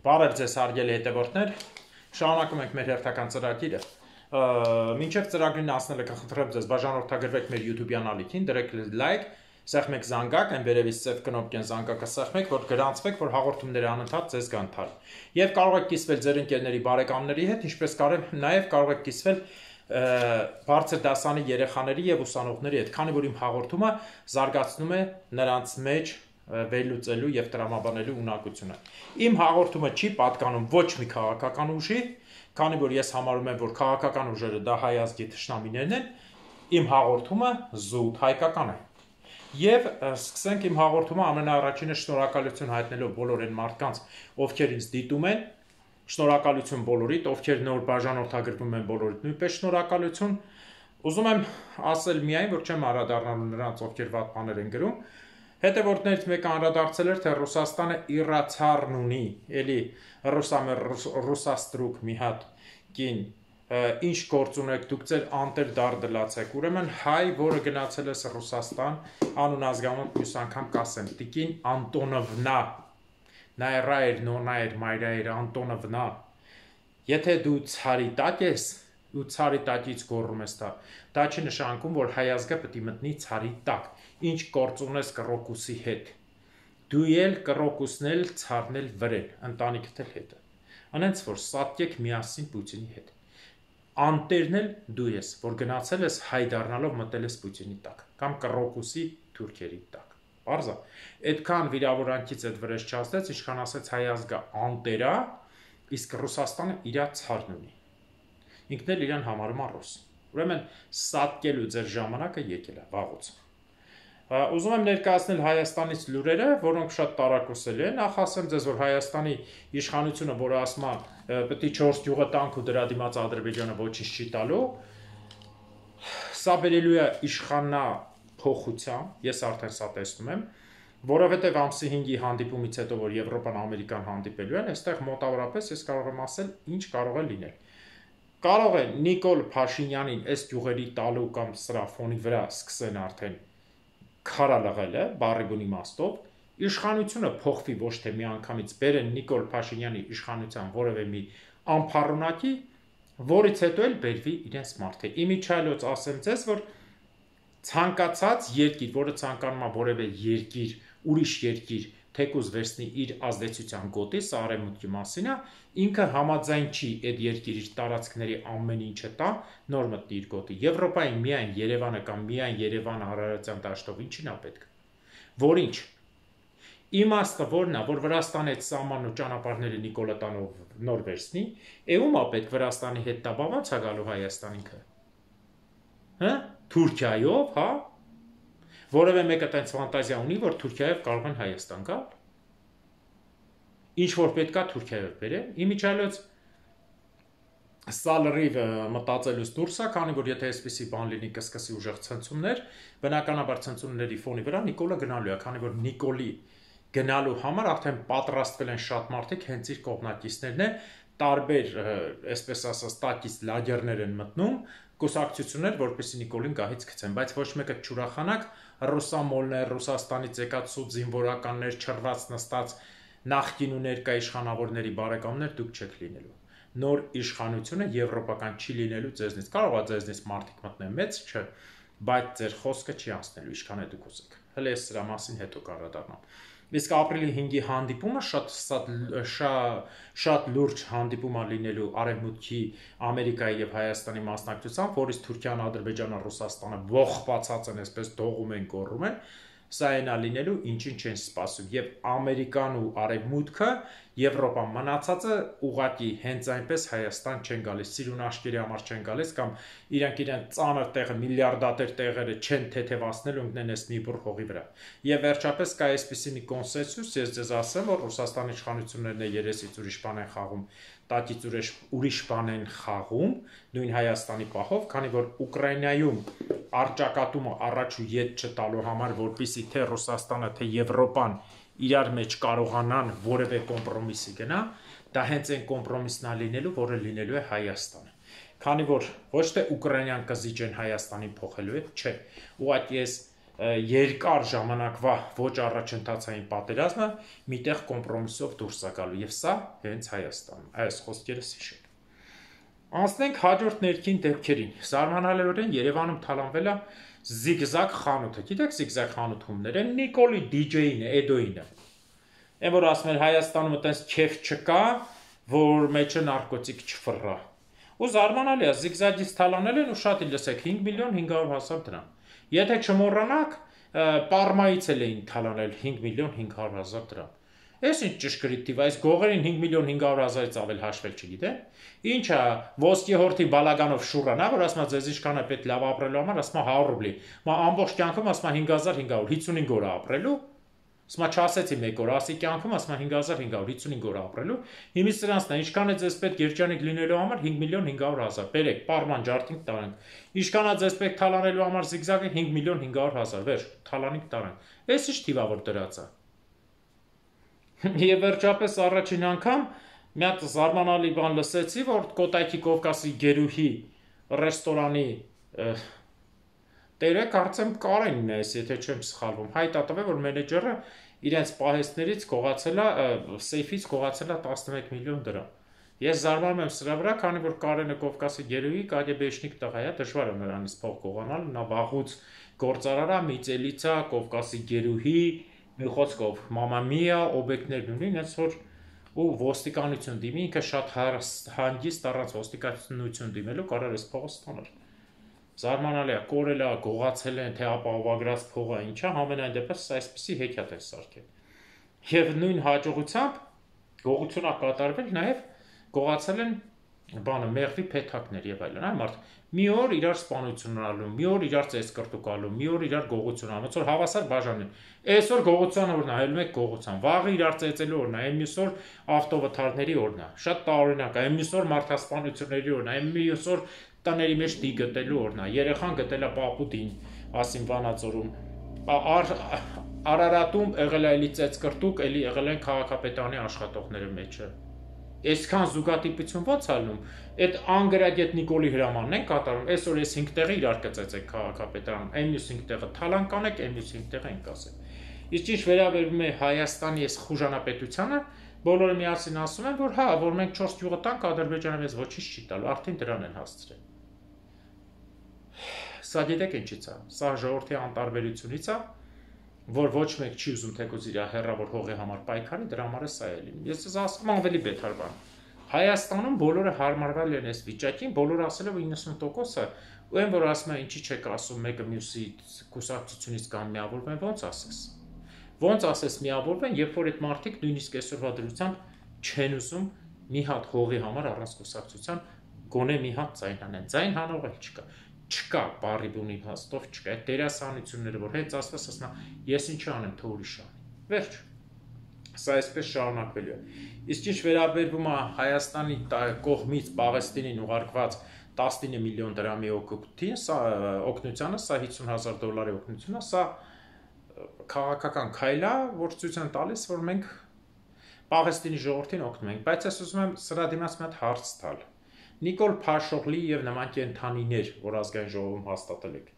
Բարև ձեզ հարգելի հետևորդներ, շարունակում ենք մեր հերթական ծրագիրը, մինչև ծրագրին հասնելը կխնդրեմ ձեզ բաժանորդագրվեք մեր YouTube-յան ալիքին, դրեք լայք, սեղմեք զանգակ, այն վերևից սև կնոպկեն զանգակը սեղմեք, որ գրանցվեք, որ հաղորդումները անընդհատ ձեզ գան թար։ Եվ կարող եք կիսվել ձեր ընկերների բարեկամների հետ, ինչպես նաև կարող եք կիսվել բարձր դասանի երեխաների եւ ուսանողների հետ, քանի որ իմ հաղորդումը զարգացնում է նրանց մեջ վերլուծելու եւ տրամաբանելու ունակությունը։ Իմ հաղորդումը չի պատկանում ոչ մի քաղաքական ուժի, քանի որ ես համարում եմ, որ քաղաքական ուժերը դա հայ ազգի թշնամիներն են, իմ հաղորդումը զուտ հայկական է։ Եվ սկսենք իմ հաղորդումը ամենաառաջինը շնորհակալություն հայտնելով բոլոր այն մարդկանց, ովքեր ինձ դիտում են, շնորհակալություն բոլորիդ, ովքեր նոր բաժանորդագրվում են բոլորիդ, նույնպես շնորհակալություն։ Ուզում եմ ասել միայն, որ չեմ անդրադառնալու նրանց, ովքեր վատ բաներ են գրում։ Հետևորդներից մեկը անդրադարձել էր, թե Ռուսաստանը իրացառն ունի, էլի ռուսաստրուկ մի հատ կին, ինչ գործ ունեք, դուք ձեր անտեր դար դլացեք, ուրեմն հայ, որը գնացել ես Ռուսաստան, անուն ազգանուն մյուս անգամ կասեմ, տիկին Անտոնովնա, նայրայր, նոնայր, մայրայր, Անտոնովնա, եթե դու ցարի տակ ես, ու ցարի տակից գոռում ես դա չի նշանակում, որ հայ ազգը պետք է մտնի ցարի տակ, ինչ գործ ունես կռոկուսի հետ, դու էլ կռոկուսն էլ ցարն էլ վրել, ընտանիքդ էլ հետը, անենց որ սատկեք միասին Պուտինի հետ, անտերն էլ դու ես, որ գնացել ես հայ դառնալով մտել ես Պուտինի տակ, կամ կռոկուսի թուրքերի տակ, պարզ է, այդքան վիրավորանքից այդ վրեժ չասեց, ինչքան ասեց հայ ազգը անտերա, իսկ Ռուսաստանը իրա ցարն ունի, ինքն էլ իրան համարում է ռուս, ուրեմն սատկելու ձեր ժամանակը եկել է վաղուց։ Ուզում եմ ներկայացնել Հայաստանից լուրերը, որոնք շատ տարակուսելի են, նախ ասեմ ձեզ, որ Հայաստանի իշխանությունը, որը ասում է պետք է 4 գյուղը տանք ու դրա դիմաց Ադրբեջանը ոչինչ չի տալու, սա բերելու է իշխանափոխության, ես արդեն սա տեսնում եմ, որովհետև ամսի 5-ի հանդիպումից հետո, որ Եվրոպան Ամերիկան հանդիպելու են, այստեղ մոտավորապես ես կարող եմ ասել, ինչ կարող է լինել։ Կարող է Նիկոլ Փաշինյանին այս գյուղերի տալու կամ սրա ֆոնի վրա սկսեն արդեն քարալղելը, բառի բուն իմաստով, իշխանությունը փոխվի ոչ թե միանգամից բերեն Նիկոլ Փաշինյանի իշխանության որևէ մի անփառունակի, որից հետո էլ բերվի իրենց մարդը։ Իմիջիայլոց ասեմ ձեզ, որ ցանկացած երկիր, որը ցանկանում է որևէ երկիր, ուրիշ երկիր թեկուզ վերցնի իր ազդեցության գոտի, սա արևմուտքի մասին է, ինքը համաձայն չի այդ երկիր իր տարածքների ամեն ինչը տա, նոր մտնի իր գոտի։ Եվրոպային միայն Երևանը կամ միայն Երևանը հարարացիան դաշտով ինչին է պետք։ Որ ինչ։ Իմաստը որն է, որ Վրաստանի այդ սահմանն ու ճանապարհները Նիկոլատանով նոր վերցնի, ում է պետք Վրաստանի հետ տա, ո՞նց է գալու Հայաստան ինքը։ Հա? Թուրքիայով, հա? Որևէ մեկը տենց ֆանտազիա ունի, որ Թուրքիայով կարող են Հայաստան գալ։ Ինչ որ պետք է Թուրքիայով բերեն, իմիջիայլոց սա լրիվ մտածելուց դուրս է, քանի որ եթե այսպիսի բան լինի կսկսի ուժեղ ցնցումներ, բնականաբար ցնցումների ֆոնի վրա Նիկոլը գնալու է, քանի որ Նիկոլի գնալու համար արդեն պատրաստվել են շատ մարդիկ, հենց իր կողմնակիցներն է, տարբեր, այսպես ասած, տակից լագերներ են մտնում, կուսակցություններ, որպեսզի Նիկոլին գահից գցեն, բայց ոչ մեկը չուրախանակ, ռուսամոլներ, Ռուսաստանից եկած սուտ զինվորականներ, չռված նստած նախկին ու ներկա իշխանավորների բարեկամներ դուք չեք լինելու։ Նոր իշխանությունը եվրոպական չի լինելու ձեզնից։ Կարող է ձեզնից մարդիկ մտնեն մեծ, չէ, բայց ձեր խոսքը չի անցնելու, ինչքան է դուք ուզեք։ Հələ ես սրա մասին հետո կանդրադառնամ։ Իսկ ապրիլի 5-ի հանդիպումը շատ լուրջ հանդիպում է լինելու Արևմուտքի, Ամերիկայի եւ Հայաստանի մասնակցությամբ, որից Թուրքիան, Ադրբեջանը, Ռուսաստանը ողբացած են, այսպես դողում են, գոռում են, սա այնա լինելու, ինչին չեն սպասում, եւ Ամերիկան ու Արևմուտքը, Եվրոպան մնացածը ուղղակի հենց այնպես Հայաստան չեն գալիս, սիրունաշկերի համար չեն գալիս, կամ իրենք ծանր տեղը, միլիարդատեր տեղերը չեն թեթևացնել ու ընկնեն այս մի բուռ հողի վրա։ Եվ վերջապես կա այսպիսի մի կոնսենսուս, ես ձեզ ասեմ, որ Ռուսաստանի իշխանություններն է երեսից ուրիշ բան են խաղում, տակից ուրիշ բան են խաղում, նույն Հայաստանի պահով, քանի որ Ուկրաինայում առճակատումը առաջ ու ետ չտալու համար, որպեսզի թե Ռուսաստանը, թե Եվրոպան իրար մեջ կարողանան որևէ կոմպրոմիսի գնա, դա հենց այն կոմպրոմիսն է լինելու, որը լինելու է Հայաստանը։ Քանի որ ոչ թե Ուկրաինան կզիջեն Հայաստանին փոխելու է, չէ, ուղղակի ես երկար ժամանակվա ոչ առաջընթացային պատերազմը միտեղ կոմպրոմիսով դուրս է գալու եւ սա հենց Հայաստանում այս խոսքերս հիշել։ Անցնենք հաջորդ ներքին դեպքերին։ Զարմանալիորեն Երևանում թալանվել է Զիգզագ խանութը։ Գիտեք Զիգզագ խանութումները Նիկոլի DJ-ին է, Էդոյինը։ Այն որ ասում են Հայաստանում այտենց քեֆ չկա, որ մեջը նարկոտիկ չֆռա։ Ու զարմանալի է, Զիգզագից թալանել են ու շատ լսեք 5 միլիոն 500 հազար դրամ։ Եթե չմոռանաք, Պարմայից էլ էին թալանել 5 միլիոն 500 հազար դրամ։ Այս ինչ ճշգրիտ տիվ, այս գողերին 5 միլիոն 500 հազարից ավել հաշվել չգիտեն։ Ինչա ոսկի հորթի բալագանով շուռան, որ ասма ձեզ ինչքան է պետք լավ ապրելու համար, ասма 100 ռուբլի։ Մա ամբողջ կյանքում ասма 5500, 55 օր ապրելու։ Ասма չասեցի մեկ օր, ասի կյանքում ասма 5500, 55 օր ապրելու։ Հիմից սրանցն է, ինչքան է ձեզ պետք երջանիկ լինելու համար 5 միլիոն 500 հազար։ Բերեք, Պարման ջարդինք տարանք։ Ինչքան է ձեզ պետք թալանելու համար Զիգզագը 5 միլիոն 500 հազար։ Վերջ, թալանինք տարանք։ Այս ինչ թիվավոր դրած է։ Եվ վերջապես առաջին անգամ մի հատ զարմանալի բան լսեցի, որ Կոտայքի Կովկասի գերուհի ռեստորանի տերը կարծեմ Կարենն է, եթե չեմ սխալվում, հայտ է տվել, որ մենեջերը իրենց պահեստներից գողացել է, սեյֆից գողացել է 11 միլիոն դրամ։ Ես զարմանում եմ սրա վրա, քանի որ Կարենը Կովկասի գերուհի կագեբեշնիկ տղա է, դժվար է նրանից փող գողանալ, նա վաղուց գործարար է, Միծելից է, Կովկասի գերուհի, մի խոսքով Մամա Միա, օբյեկտներն ունի, այնց որ ու ոստիկանություն դիմի, ինքը շատ հանգիստ առանց ոստիկանություն դիմելու կարող է փողը ստանալ։ Զարմանալի է, կորել է, գողացել են, թե ապահովագրած փողը ինչա, համենայն դեպս այսպիսի հեքիաթ է սարքել։ Եվ նույն հաջողությամբ գողություն է կատարվել, նաև գողացել են բանը մեղվի փեթակներ եւ այլն, այ մարդ մի օր իրար սպանություն ունալու, մի օր իրար ծես կրտուկալու, մի օր իրար գողություն անում, որ հավասար բաժանեն։ Այսօր գողության օրն է, այլ մեկ գողության, վաղը իրար ծեծելու օրն է, այն մյուս օր ավտովթարների օրն է, շատ տարօրինակ է, այն մյուս օր մարդասպանությունների օրն է, այն մյուս օր տների մեջ դի գտելու օրն է, երեխան գտել է պապուտին, ասին Վանաձորում, Արարատում եղել է էլի ծեծ կրտուկ, էլի եղել են քաղաքապետարանի աշխատողների մեջը։ Այսքան զուգատիպություն ո՞նց ալնում։ Այդ անգրագետ Նիկոլի հրամանն են կատարում։ Այսօր այս 5 տեղը իրար կծեցեք քաղաքապետարանում, այն մյուս 5 տեղը թալան կանեք, այն մյուս 5 տեղը ենք ասել։ Իսկ ինչ վերաբերում է Հայաստանի այս խուժանապետությանը, բոլորը միասին ասում են, որ հա, որ մենք 4 գյուղը տանք, Ադրբեջանը մեզ ոչինչ չի տալու, արդեն դրան են հասցրել։ Սա գիտեք ինչից է։ Սա ժողովրդի անտարբերությունից է, որ ոչ մեկ չի ուզում թեկուզ իր հեռավոր հողի համար պայքարի, դրա համար է սա է լինում։ Ես ասում եմ ավելի բետար բան։ Հայաստանում բոլորը հարմարվել են այս վիճակին, բոլորը ասել են 90%-ը, ու այն որ ասում են ինչի չեք ասում մեկը մյուսի կուսակցությունից կամ միավորվեն, ո՞նց ասես։ Ոնց ասես միավորվեն, երբ որ այդ մարդիկ նույնիսկ այսօրվա դրությամբ չեն ուզում մի հատ հողի համար առանց կուսակցության գոնե մի հատ ձայն անեն։ Ձայն հանող էլ չկա։ Չկա բարի բունի հաստով չկա։ Այդ դերասանությունները, որ հենց ասված ասնա, ես ինչ անեմ, թե ուրիշ անի։ Վերջ։ Սա այսպես շարունակվելու է։ Իսկ ինչ վերաբերվում է Հայաստանի կողմից Պաղեստինին ուղարկված 19 միլիոն դրամի օգնությանը, սա $50,000 օգնությունը, սա քաղաքական քայլ է, որ ցույց են տալիս, որ մենք Պաղեստինի ժողովրդին օգնում ենք, բայց ես ուզում եմ սրա դիմաց մի հատ հարց տալ։ Նիկոլ Փաշօղլի եւ նման կենթանիներ, որ ազգային ժողովում հաստատել եք։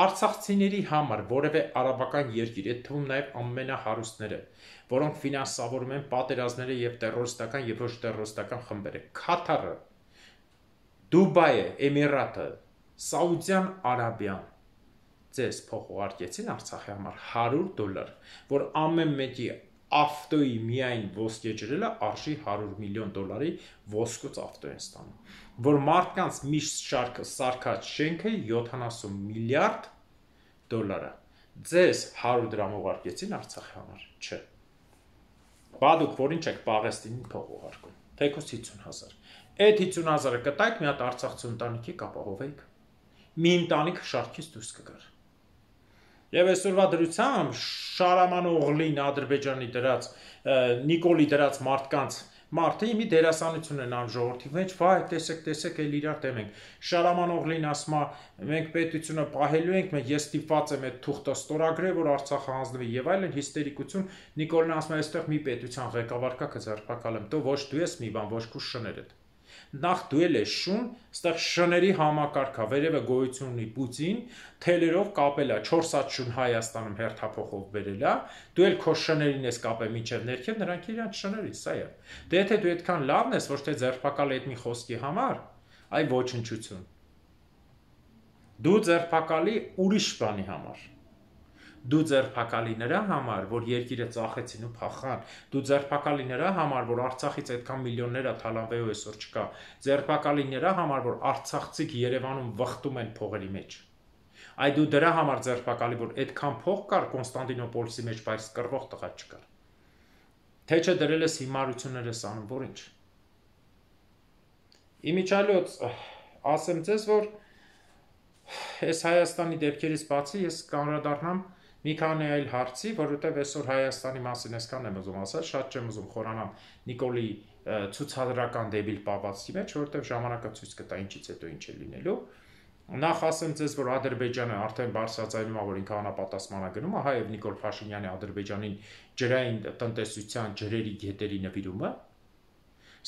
Արցախցիների համար որևէ արաբական երկիր, այդ թվում նաեւ ամենահարուստները, որոնք ֆինանսավորում են պատերազմները եւ տերորիստական եւ ոչ տերորիստական խմբերը, Քաթարը, Դուբայը, Էմիրատը, Սաուդյան Արաբիան, ձեզ փող ուղարկեցին Արցախի համար $100, որ ամեն մեկի ավտոյի միայն ոսկե ջրելը արժի $100 միլիոն ոսկուց ավտո են ստանում, որ մարդկանց միշտ շարքը սարքած շենքը $70 միլիարդ, ձեզ 100 դրամ ուղարկեցին Արցախի համար, չէ։ Բադուք որ ինչ եք Պաղեստինին փող ուղարկում, թեկուզ 50,000, այդ 50,000-ը կտայք մի հատ արցախցի ընտանիքի կապահովեիք, մի ընտանիք շարքից դուրս կգար։ Եվ այսօրվա դրությամբ Շարաման Օղլին Ադրբեջանի դրած, Նիկոլի դրած մարդկանց մարդը մի դերասանություն են անում ժողովրդի մեջ, վայ, տեսեք, էլ իրար դեմ ենք։ Շարաման Օղլին ասում է, մենք պետությունը պահելու ենք, ես ստիպված եմ այդ թուղթը ստորագրել, որ Արցախը հանձնվի եւ այլն, հիստերիկություն։ Նիկոլն ասում է, այստեղ մի պետության ղեկավար կա, կձերբակալեմ, դու ոչ դու ես մի բան, ոչ քու շներդ։ Նախ դու ես շուն, այստեղ շների համակարգա, վերևը գոյություն ունի Պուտին, թելերով կապել է 4 հատ շուն Հայաստանում հերթափոխով բերել է, դու էլ քո շներին ես կապել մինչև ներքև, նրանք իրանց շների, սա է։ Դե եթե դու այդքան լավն ես, ոչ թե ձերբակալի այդ մի խոսքի համար, այ ոչնչություն։ Դու ձերբակալի ուրիշ բանի համար։ Դու ձերբակալի նրա համար, որ երկիրը ծախեցին ու փախան, դու ձերբակալի նրա համար, որ Արցախից այդքան միլիոններ թալանվեու այսօր չկա, ձերբակալի նրա համար, որ արցախցիք Երևանում վխտում են փողերի մեջ։ Այ դու դրա համար ձերբակալի, որ այդքան փող կար Կոնստանտինոպոլիսի մեջ, բայց կռվող տղա չկար։ Թե չէ դրել ես հիմարություններ ես անում, որ ինչ։ Իմիջիալոց ասեմ ձեզ, որ այս Հայաստանի դեպքերից բացի ես կանրադառնամ մի քանի այլ հարցի, որովհետև այսօր Հայաստանի մասին այսքան եմ ուզում ասել, շատ չեմ ուզում խորանալ Նիկոլի ցուցադրական դեբիլ պապացի մեջ, որովհետև ժամանակը ցույց կտա ինչից հետո ինչ է լինելու։ Նախ ասեմ ձեզ, որ Ադրբեջանը արդեն բարձրացնում է, որ ինքը անապատասխան է գնում, ահա եւ Նիկոլ Փաշինյանի Ադրբեջանին ջրային տնտեսության ջրերի գետերի նվիրումը։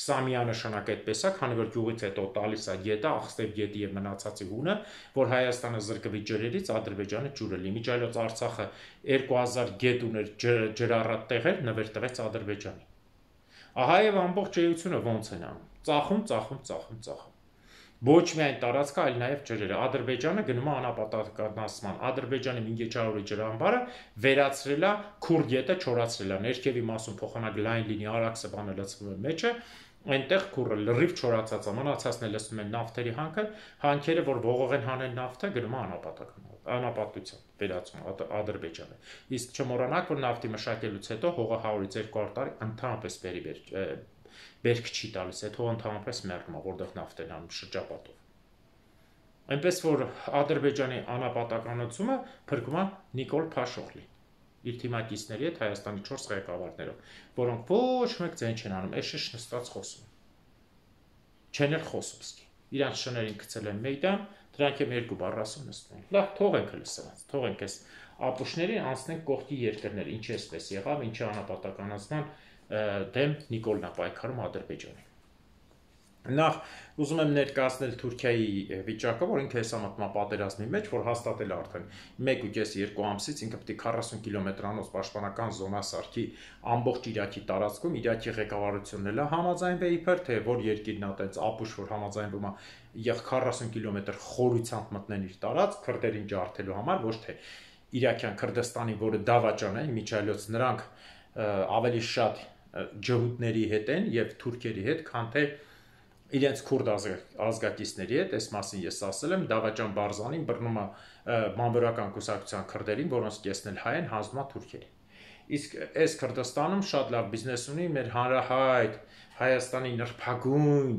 Սա միանշանակ այդպես է, քանի որ գյուղից հետո տալիս է գետը, Աղստև գետի եւ մնացածի հունը, որ Հայաստանը զրկվի ջրերից, Ադրբեջանը ջուրը լի։ Միջայլոց Արցախը 2000 գետ ուներ ջրառատ տեղեր, նվեր տվեց Ադրբեջանի։ Ահա եւ ամբողջ էությունը ոնց են անում։ Ծախում։ Ոչ միայն տարածքը, այլ նաեւ ջրերը։ Ադրբեջանը գնում է անապատականացման։ Ադրբեջանի Մինգեչարորի ջրամբարը վերացրել է Քուր գետը, չորացրել է։ Ներքևի մասում փոխանակ լայն լինի, Արաքսը բանը լցվում է մեջը, այնտեղ քուրը լրիվ չորացած է, մնացածն է լցնում են նավթերի հանքերը, որ ողող են հանել նավթը, գնում է անապատության վերացում Ադրբեջանը։ Իսկ չմոռանաք, որ նավթի մշակելուց հետո հողը 100-ից 200 տարի ընդհանրապես բերք չի տալիս, այդ հողը ընդհանրապես մեռնում է, որտեղ նավթ են անում շրջապատով։ Այնպես որ Ադրբեջանի անապատականությունը փրկում է Նիկոլ Փաշինյանի իր թիմակիցների հետ Հայաստանի 4 ղեկավարներով, որոնք ոչ մեկ ձեն չեն անում, էշեշ նստած խոսում։ Չեն էլ խոսում, իրանց շներին գցել են մեյդան, դրանք եմ 2 բառ ասում նստում։ Լավ, թողենք լսած, թողենք այս ապուշներին, անցնենք կողքի երկրներ, ինչ էսպես եղավ, ինչի անապատականացման դեմ Նիկոլն է պայքարում Ադրբեջանի։ Նախ ուզում եմ ներկայացնել Թուրքիայի վիճակը, որ ինքը հեսա մտնում է պատերազմի մեջ, որ հաստատել է արդեն 1.5-2 ամսից, ինքը պետք է 40 կիլոմետրանոց պաշտպանական զոնա սարքի ամբողջ Իրաքի տարածքում, Իրաքի ղեկավարությունն էլ համաձայնվի իբր, թե որ երկիրն է այդպես ապուշ, որ համաձայնվում է 40 կիլոմետր խորությամբ մտնեն իր տարածք, քրդերին ջարդելու համար, ոչ թե Իրաքյան Քրդստանի, որը դավաճան է, միջայլոց նրանք ավելի շատ ջհուդների հետ են եւ թուրքերի հետ, քան թե իրենց քուրդ ազգակիցների հետ, այս մասին ես ասել եմ, Դավաճան Բարզանին բռնում է բանվորական կուսակցության քրդերին, որոնց կեսն էլ հայ են, հանձնում է թուրքերին։ Իսկ այս Քրդստանում շատ լավ բիզնես ունի մեր հանրահայտ Հայաստանի նրբագույն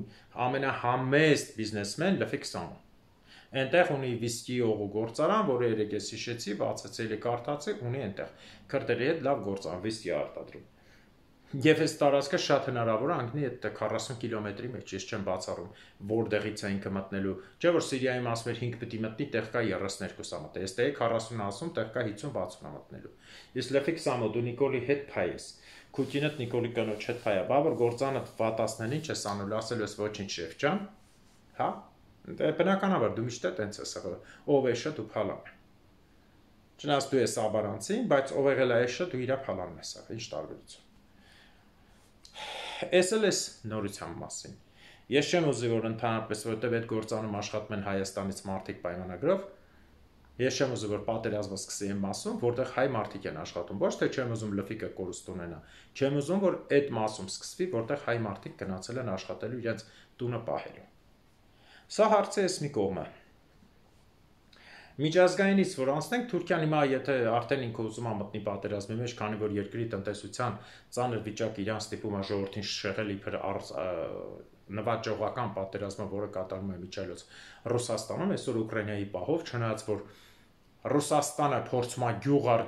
ամենահամեստ բիզնեսմեն Լեֆիքսանը։ Այնտեղ ունի վիսկի օղու գործարան, որը երեք ես հիշեցի, բացացել կարդացի, ունի այնտեղ քրդերի հետ լավ գործարան, վիսկի արտադրում։ Եվ այս տարածքը շատ հնարավոր է անգնի այդ 40 կիլոմետրի մեջ, ես չեմ բացառում, որտեղից է ինքը մտնելու, չէ՞ որ Սիրիայում ասում էր 5 պիտի մտնի, տեղ կա 32 մտնի, այստեղ 40 ասում, տեղ կա 50-60 մտնելու։ Իսկ Լեֆիքսամո դու Նիկոլի հետ փայ ես, Քուտինդ Նիկոլի կնոջ հետ փայ է, բա որ գործանը վատասնեն ինչ ես անելու, ասելու ես ոչինչ շեֆ ջան, հա։ Բնականաբար դու միշտ տենց ես եղել, ով է շատ ու փալան։ Չնայած դու ես աբարանցին, բայց ով եղել է էշը դու իրա փալանն ես եղել, ինչ տարբերություն։ Էս էլ էս նորության մասին։ Ես չեմ ուզի, որ ընդհանրապես, որովհետև այդ գործանում աշխատում են Հայաստանից մարդիկ պայմանագրով, ես չեմ ուզի, որ պատերազմը սկսի այն մասում, որտեղ հայ մարդիկ են աշխատում, ոչ թե չեմ ուզում Լֆիկը կորուստ ունենա, չեմ ուզում, որ այդ մասում սկսվի, որտեղ հայ մարդիկ գնացել են աշխատելու իրենց տունը պահելու։ Սա հարցը էս մի կողմը։ Միջազգայինից որ անցնենք, Թուրքիան հիմա եթե արդեն ինքը ուզում է մտնի պատերազմի մեջ, քանի որ երկրի տնտեսության ծանր վիճակը իրան ստիպում է ժողովրդին շեղել իբր նվաճողական պատերազմը, որը կատարվում է միջայլոց Ռուսաստանում, այսօր Ուկրաինայի պահով, չնայած որ Ռուսաստանը փորձում է գյուղ առ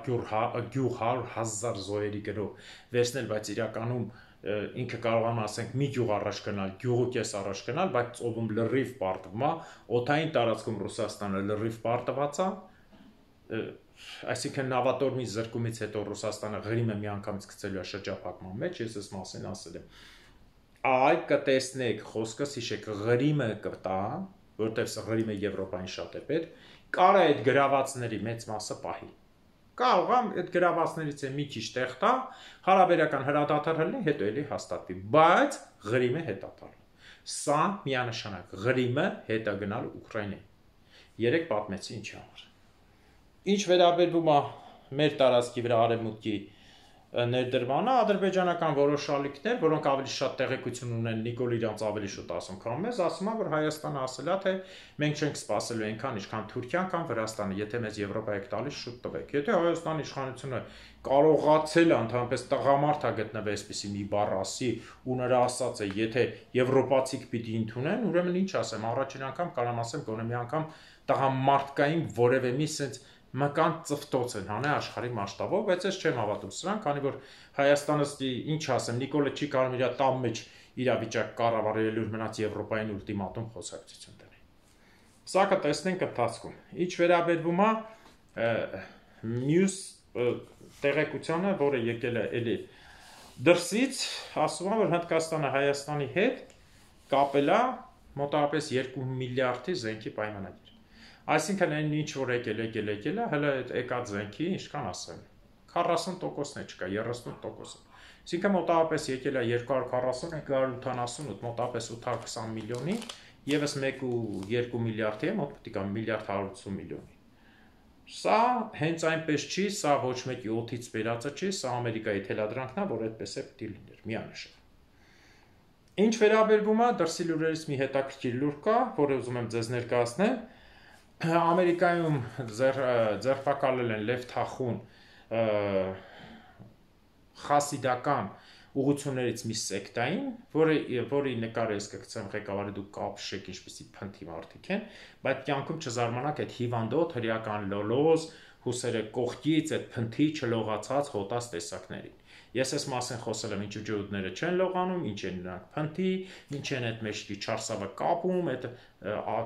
գյուղ 100,000 զոհերի գնով վերցնել, բայց իրականում ինքը կարողանում ասենք մի գյուղ առաջ գնալ, գյուղու կես առաջ գնալ, բայց ծովում լրիվ պարտվում է, օդային տարածքում Ռուսաստանը լրիվ պարտված է, այսինքն նավատորմի զրկումից հետո Ռուսաստանը Ղրիմը միանգամից գցելու է շրջափակման մեջ, ես այս մասին ասել եմ։ այ կտեսնեք խոսքս հիշեք Ղրիմը կտա, որտեղ Ղրիմը Եվրոպային շատ է պետք, կարա այդ գրավածների մեծ մասը պահի։ Կարող է այդ գրավածներից է մի քիչ տեղ տա, հարաբերական հրադադար լինի, հետո էլի հաստատվի, բայց Ղրիմը հետա տալ։ Սա միանշանակ Ղրիմը հետա գնալ Ուկրաինայի։ Երեք պատմեցի ինչի համար։ Ինչ վերաբերվում է մեր տարածքի վրա արևմուտքի ներդրմանը, ադրբեջանական որոշ ալիքներ, որոնք ավելի շատ տեղեկություն ունեն, Նիկոլ իրանց ավելի շուտ ասում, քան մեզ, ասում է, որ Հայաստանը ասել է, թե մենք չենք սպասելու այնքան, ինչքան Թուրքիան կամ Վրաստանը, եթե մեզ Եվրոպա եք տալիս, շուտ տվեք։ Եթե Հայաստանի իշխանությունը կարողացել է ընդհանրապես տղամարդ է գտնվել այսպիսի մի բառ ասի ու նրա ասած է, եթե եվրոպացիք պիտի ընդունեն, ուրեմն ինչ ասեմ, առաջին անգամ կարամ ասեմ, գոնե մի անգամ տղամարդկային որևէ մի sense մկան ծվտոց են հանե աշխարհի մասշտաբով, բայց ես չեմ հավատում սրան, քանի որ Հայաստանը ինչ ասեմ, Նիկոլը չի կարող իր տան մեջ իրավիճակ կառավարելու մնաց Եվրոպային ուլտիմատում խոսակցություն դնի։ Սա կտեսնենք ընթացքում։ Ինչ վերաբերվում է մյուս տեղեկությանը, որը եկել է էլի դրսից, ասում է, որ Հնդկաստանը Հայաստանի հետ կապել է մոտավորապես 2 միլիարդի զենքի պայմանագիր։ Այսինքն այն ինչ որ եկել է, հələ այդ եկած զենքի ինչքան ասեմ, 40%-ն է չկա, 30%-ը։ Այսինքն մոտավորապես եկել է 240, 288, մոտավորպես 820 միլիոնի, եւս 1.2 միլիարդի է, մոտ պետք է միլիարդ 180 միլիոնի։ Սա հենց այնպես չի, սա ոչ մեկի օդից վերածը չի, սա Ամերիկայի թելադրանքն է, որ այդպես է պետք լիներ, միանշան։ Ինչ վերաբերվում է դրսի լուրերից մի հետաքրքիր լուր կա, որը ուզում եմ ձեզ ներկայացնել։ Ամերիկայում ձերբակալել են Լև Թախուն խասիդական ուղղություններից մի սեկտային, որի նկարը ես կգցեմ ղեկավարի դուք կապշեք ինչպեսի փնթի մարդիկ են, բայց կյանքում չզարմանաք այդ հիվանդոտ հրեական լոլոզ, հուսերը կողքից այդ փնթի չլողացած հոտած տեսակներին։ Ես այս մասին խոսել եմ, ինչ ջոդները չեն լողանում, ինչ են նրանք փնթի, ինչ են այդ մեջքի չարսավը կապում, այդ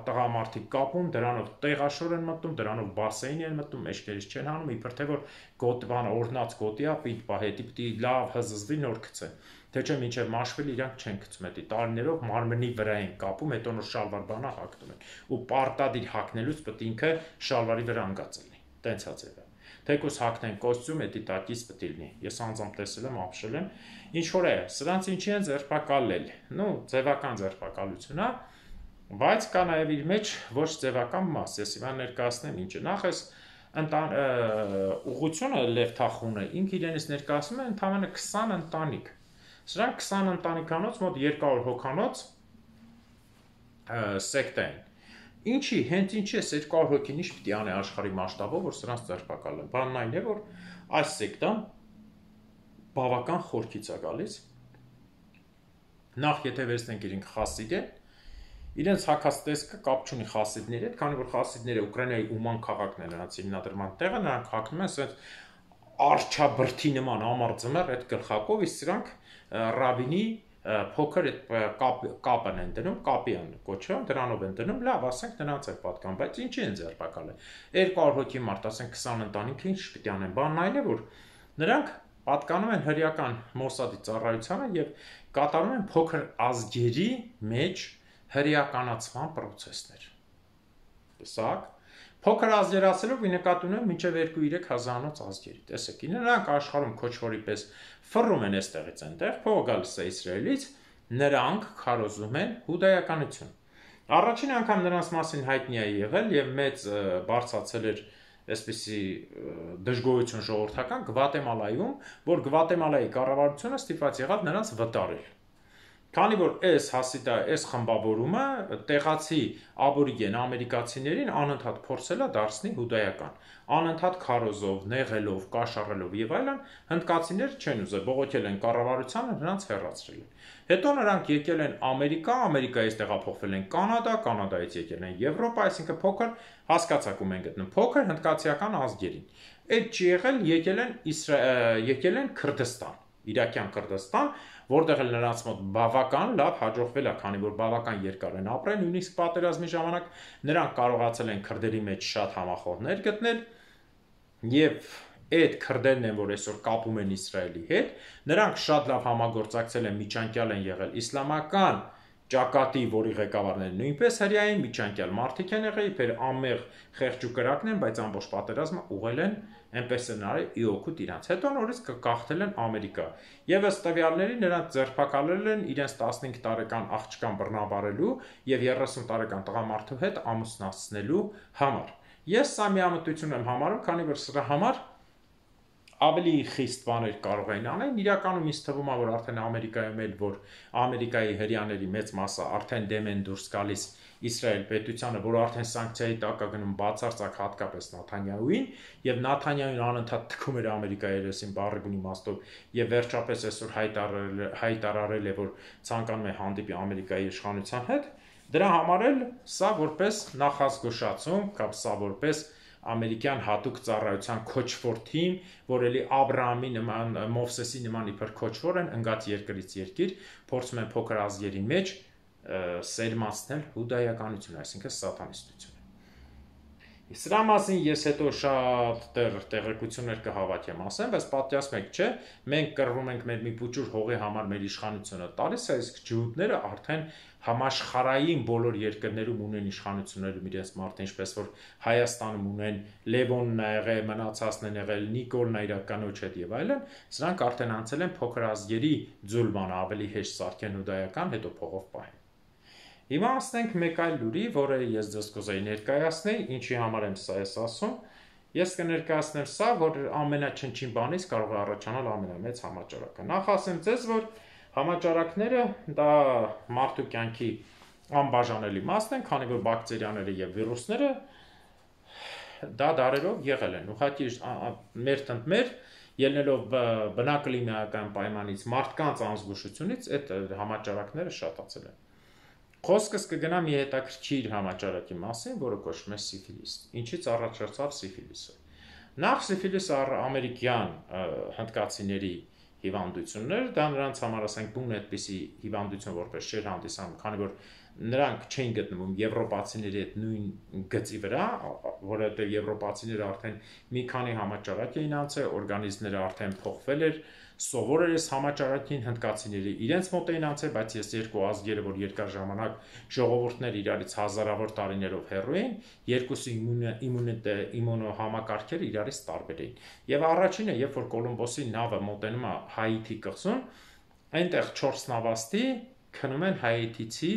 տղամարդիկ կապում, դրանով տեղաշոր են մտնում, դրանով բասեին են մտնում, մեջքերից չեն հանում, իբր թե որ գոտվան օրնած գոտի է, պիտի հետի պիտի լավ հզզվի նոր գցեն։ Թե չէ մինչև մաշվել իրանք չեն գցում, էդի տարիներով մարմնի վրա են կապում, հետո նոր շալվար բանա հագնում են։ Ու պարտադիր հագնելուց պետք է ինքը շալվարի վրա անգած լինի։ Տենց է ձևը։ Թեկուս հագնեն կոստյում, էդի տակից պետք է լինի։ Ես անձամբ տեսել եմ, ապշել եմ։ Ինչ որ է, սրանց ինչի են ձերբակալել։ Նու ձևական ձերբակալություն է, բայց կա նաև իր մեջ ոչ ձևական մաս։ Ես հիմա ներկայացնեմ ինչը։ Նախ էս ուղղությունը Լև Թախունը ինքը իրենից ներկայացնում է ընդամենը 20 ընտանիք։ Սրանք 20 ընտանիքանոց մոտ 200 հոգանոց սեկտա են։ Ինչի, հենց ինչի է 200 հոգին ինչ պիտի անի աշխարհի մասշտաբով, որ սրանց ձերբակալեն։ Բանն այն է, որ այս սեկտան բավական խորքից է գալիս։ Նախ եթե վերցնենք իրենք խասիդ են, իրենց հակած տեսքը կապ չունի խասիդների հետ, քանի որ խասիդները Ուկրաինայի Ուման քաղաքն է նրանց հիմնադրման տեղը, նրանք հագնում են ասած արչաբրդի նման ամառ ձմեռ այդ գլխակով, իսկ սրանք ռաբինի փոքր կապն են դնում, կապի են կոչվում, դրանով են դնում, լավ, ասենք նրանց է պատկան, բայց ինչի են ձերբակալել։ 200 հոգի մարդ, ասենք 20 ընտանիք, ինչ պիտի անեն։ Բանն այն է, որ նրանք պատկանում են հրեական Մոսադի ծառայությանը եւ կատարում են փոքր ազգերի մեջ հրեականացման process-ներ։ Տեսակ, փոքր ազգերացելով ի նկատի ունեմ մինչև 2-3 հազարանոց ազգերի։ Տեսեք, նրանք աշխարհում քոչվորի պես ֆռում են այստեղից այնտեղ, փողը գալիս է Իսրայելից, նրանք քարոզում են հուդայականություն։ Առաջին անգամ նրանց մասին հայտնի է եղել եւ մեծ բարձացել էր այսպիսի դժգոհություն ժողովրդական Գվատեմալայում, որ Գվատեմալայի կառավարությունը ստիպված եղավ նրանց վտարել։ Քանի որ այս խմբավորումը տեղացի աբորիգեն ամերիկացիներին անընդհատ փորձել է դարձնել հուդայական, անընդհատ քարոզով, նեղելով, կաշառելով եւ այլն, հնդկացիներ չեն ուզել, բողոքել են կառավարությանը, նրանց հեռացրել են։ Հետո նրանք եկել են Ամերիկա, Ամերիկայից տեղափոխվել են Կանադա, Կանադայից եկել են Եվրոպա, այսինքն փոքր հասկացակում են գտնում, փոքր հնդկացիական ազգերին։ Այդ չի եղել, եկել են Քրդստան, Իրաքյան Քրդստան, որտեղ էլ նրանց մոտ բավական լավ հաջողվել է, քանի որ բավական երկար են ապրել, նույնիսկ պատերազմի ժամանակ նրանք կարողացել են քրդերի մեջ շատ համախոհներ գտնել եւ այդ քրդերն են, որ այսօր կապում են Իսրայելի հետ, նրանք շատ լավ համագործակցել են, միջանկյալ են եղել իսլամական ճակատի, որի ղեկավարները նույնպես հրեային, միջանկյալ մարդիկ են եղել, իբր անմեղ խեղճ ու կրակն են, բայց ամբողջ պատերազմը ուղղել են այնպես են արել ի օգուտ իրանց։ Հետո նորից կգաղթել են Ամերիկա։ Եվ ըստ տվյալների նրանց ձերբակալել են իրենց 15 տարեկան աղջկան բռնաբարելու եւ 30 տարեկան տղամարդու հետ ամուսնացնելու համար։ Ես սա միամտություն եմ համարում, քանի որ սրա համար ավելի խիստ բաներ կարող էին անել, իրականում ինձ թվում է, որ արդեն Ամերիկայում էլ, որ Ամերիկայի հրեաների մեծ մասը արդեն դեմ են դուրս գալիս Իսրայել պետությանը, որ արդեն սանկցիայի տակ է գնում բացարձակ հատկապես Նաթանյահուին, եւ Նաթանյահուն անընդհատ թքում էր Ամերիկայի երեսին բառի բուն իմաստով, եւ վերջապես այսօր հայտարարել է, որ ցանկանում է հանդիպի Ամերիկայի իշխանության հետ, դրա համար էլ սա որպես նախազգուշացում, կամ սա որպես ամերիկյան հատուկ ծառայության քոչվոր թիմ, որ էլի Աբրահամի նման, Մովսեսի նման իբր քոչվոր են, ընկած երկրից երկիր, փորձում են փոքր ազգերի մեջ սերմանցնել հուդայականություն, այսինքն սատանիստություն։ Սրա մասին ես հետո շատ տեղեկություններ կհավաքեմ ասեմ, բայց պատկերացնեք, չէ, մենք կռվում ենք մեր մի փուչուր հողի համար մեր իշխանությունը տալիս է, իսկ ջհուդները արդեն համաշխարհային բոլոր երկրներում ունեն իշխանություններում իրենց մարդը, ինչպես որ Հայաստանում ունեն Լևոնն ա եղել, մնացածն են եղել, Նիկոլն ա իրականոջ հետ եւ այլն, սրանք արդեն անցել են փոքր ազգերի ձուլման, ավելի հեշտ սարքեն հուդայական, հետո փողով պահեն։ Հիմա ասենք մեկ այլ լուրի, որը ես ձեզ կուզեի ներկայացնել, ինչի համար եմ սա ես ասում, ես կներկայացնեմ սա, որ ամենաչնչին բանից կարող է առաջանալ ամենամեծ համաճարակը։ Նախ ասեմ ձեզ, որ համաճարակները դա մարդու կյանքի անբաժանելի մասն են, քանի որ բակտերիաները եւ վիրուսները դա դարերով եղել են։ Ուղղակի մեր ելնելով բնակլիմայական պայմանից, մարդկանց անզգուշությունից այդ համաճարակները շատացել են։ Խոսքս կգնա մի հետաքրքիր համաճարակի մասին, որը կոչվում է սիֆիլիս։ Ինչից առաջացավ սիֆիլիսը։ Նախ սիֆիլիսը ամերիկյան հնդկացիների հիվանդություններ, դա նրանց համար ասենք բուն այդպիսի հիվանդություն որպես չէր հանդիսանում, քանի որ նրանք չէին գտնվում եվրոպացիների հետ նույն գծի վրա, որովհետև եվրոպացիները արդեն մի քանի համաճարակ էին անցել, օրգանիզմները արդեն փոխվել էր, սովոր էր այս համաճարակին, հնդկացիները իրենց մոտ էին անցել, բայց ես երկու ազգերը, որ երկար ժամանակ ժողովուրդներ իրարից հազարավոր տարիներով հեռու էին, երկուսի իմունոհամակարգերը իրարից տարբեր էին։ Եվ առաջինը, երբ որ Կոլումբոսի նավը մոտենում է Հայիթի կղզուն, այնտեղ 4 նավաստի քնում են հայիթիցի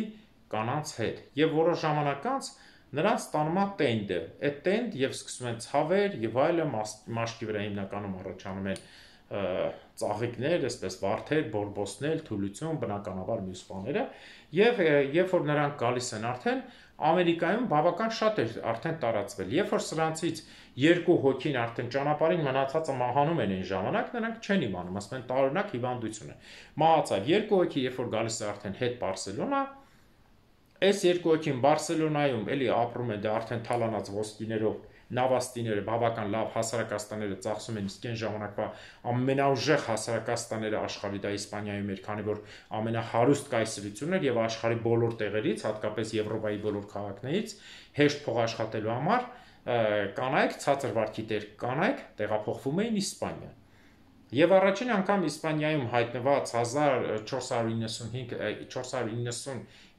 կանանց հետ, եւ որոշ ժամանակ անց նրանց տանում է տենդը, այդ տենդ եւ սկսում են ցավեր եւ այլը, մաշկի վրա հիմնականում առաջանում են ծաղիկներ, այսպես վարդեր, բորբոսներ, թուլություն, բնականաբար մյուս բաները, եւ երբ որ նրանք գալիս են արդեն Ամերիկայում բավական շատ էր արդեն տարածվել, երբ որ սրանցից երկու հոգին արդեն ճանապարհին մնացածը մահանում են այն ժամանակ, նրանք չեն իմանում, ասում են տարօրինակ հիվանդություն է։ Մահացավ երկու հոգի, երբ որ գալիս է արդեն հետ Բարսելոնա, այս երկու հոգին Բարսելոնայում էլի ապրում են, դա արդեն թալանած ոսկիներով նավաստիները բավական լավ հասարակաստանները ծախսում են, իսկ այն ժամանակվա ամենաուժեղ հասարակաստանները աշխարհի դա Իսպանիայում էր, քանի որ ամենահարուստ կայսրությունն էր եւ աշխարհի բոլոր տեղերից, հատկապես Եվրոպայի բոլոր քաղաքներից հեշտ փող աշխատելու համար կանայք, ցածր վարքի տեր կանայք տեղափոխվում էին Իսպանիա։ Եվ առաջին անգամ Իսպանիայում հայտնված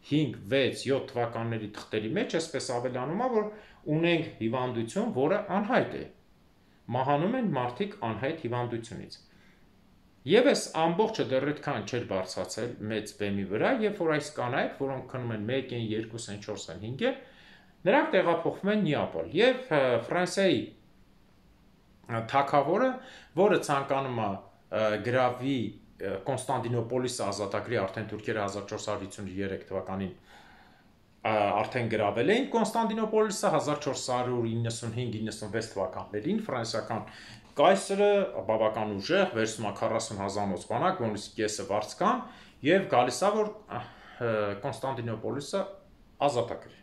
495-6 թվականների թղթերի մեջ այսպես ավելանում է, որ ունենք հիվանդություն, որը անհայտ է։ Մահանում են մարդիկ անհայտ հիվանդությունից։ Եվ այս ամբողջը դեռ այդքան չէր բարձրացել մեծ բեմի վրա, երբ որ այս կանայք, որոնք քնում են 1 են, 2 են, 4 են, 5 են, նրանք տեղափոխվում են Նեապոլ եւ Ֆրանսիայի թագավորը, որը ցանկանում է գրավի Կոնստանդինոպոլիսը ազատագրի, արդեն թուրքերը 1453 թվականին արդեն գրավել էին Կոնստանդինոպոլիսը 1495-96 թվականներին ֆրանսիական կայսրը բավական ուժեղ վերցնում է 40,000 բանակ, որոնց կեսը վարձկան եւ գալիս է որ Կոնստանդինոպոլիսը ազատագրի։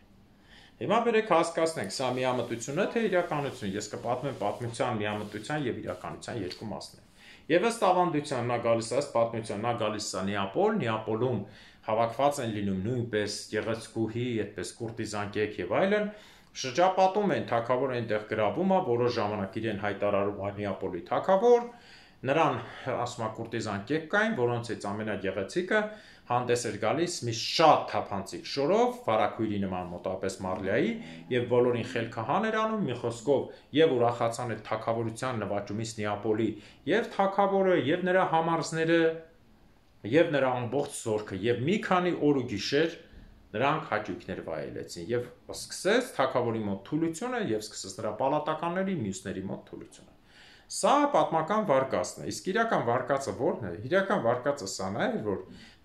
Հիմա բերեք հասկացնենք, սա միամտություն է թե իրականություն։ Ես կպատմեմ պատմության, միամտության եւ իրականության երկու մասներ։ Եվ ըստ ավանդության նա գալիս է, ըստ պատմության նա գալիս է Նեապոլ, Նեապոլում հավաքված են լինում նույնպես գեղեցկուհի, այդպես կուրտիզան կեկ եւ այլն, Շրջապատում են թագավորը այնտեղ գրավում է, որոշ ժամանակ իրեն հայտարարում է Նեապոլի թագավոր, նրան ասում է կուրտիզան կեկ կային, որոնցից ամենագեղեցիկը հանդես էր գալիս մի շատ թափանցիկ շորով, վարակույրի նման մոտավորապես Մարլիայի, եւ բոլորին խելքահան էր անում, մի խոսքով եւ ուրախացան այդ թագավորության նվաճումից Նեապոլի, եւ թագավորը, եւ նրա համարզները, եւ նրա ամբողջ զորքը, եւ մի քանի օր ու գիշեր նրանք հաճույքներ վայելեցին եւ սկսեց թագավորի մոտ թուլությունը եւ սկսեց նրա պալատականների մյուսների մոտ թուլությունը։ Սա պատմական վարկածն է, իսկ իրական վարկածը ո՞րն է։ Իրական վարկածը սա է, որ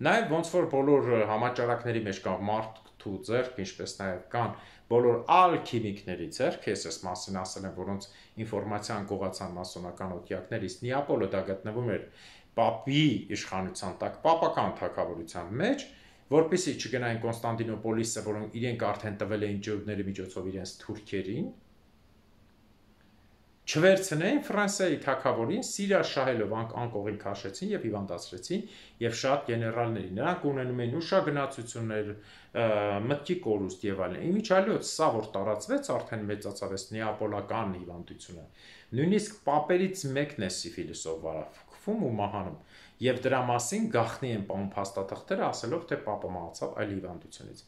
նաեւ ոնց որ բոլոր համաճարակների մեջ կա մարդու ձեռք, ինչպես նաեւ կան բոլոր ալքիմիկների ձեռք, ես այս մասին ասել եմ, որոնց ինֆորմացիան կողացան մասոնական օտյակներից, Նեապոլը դա գտնվում էր Պապի իշխանության տակ, պապական թագավորության մեջ, որպեսզի չգնային Կոնստանտինոպոլիսը, որոնք իրենք արդեն տվել էին ջուրների միջոցով իրենց թուրքերին, չվերցնեին Ֆրանսիայի թագավորին, սիրաշահելով անկողին քաշեցին եւ հիվանդացրեցին եւ շատ գեներալների, նրանք ունենում էին ուշագնացություններ, մտքի կորուստ եւ այլն։ Իմիջիալոց սա որ տարածվեց, արդեն մեծացավ այս նեապոլական հիվանդությունը, նույնիսկ պապերից մեկն է սիֆիլիսով վարակվում ու մահանում, եւ դրա մասին գաղտնի են պահում փաստաթղթերը, ասելով թե պապը մահացավ այլ հիվանդությունից։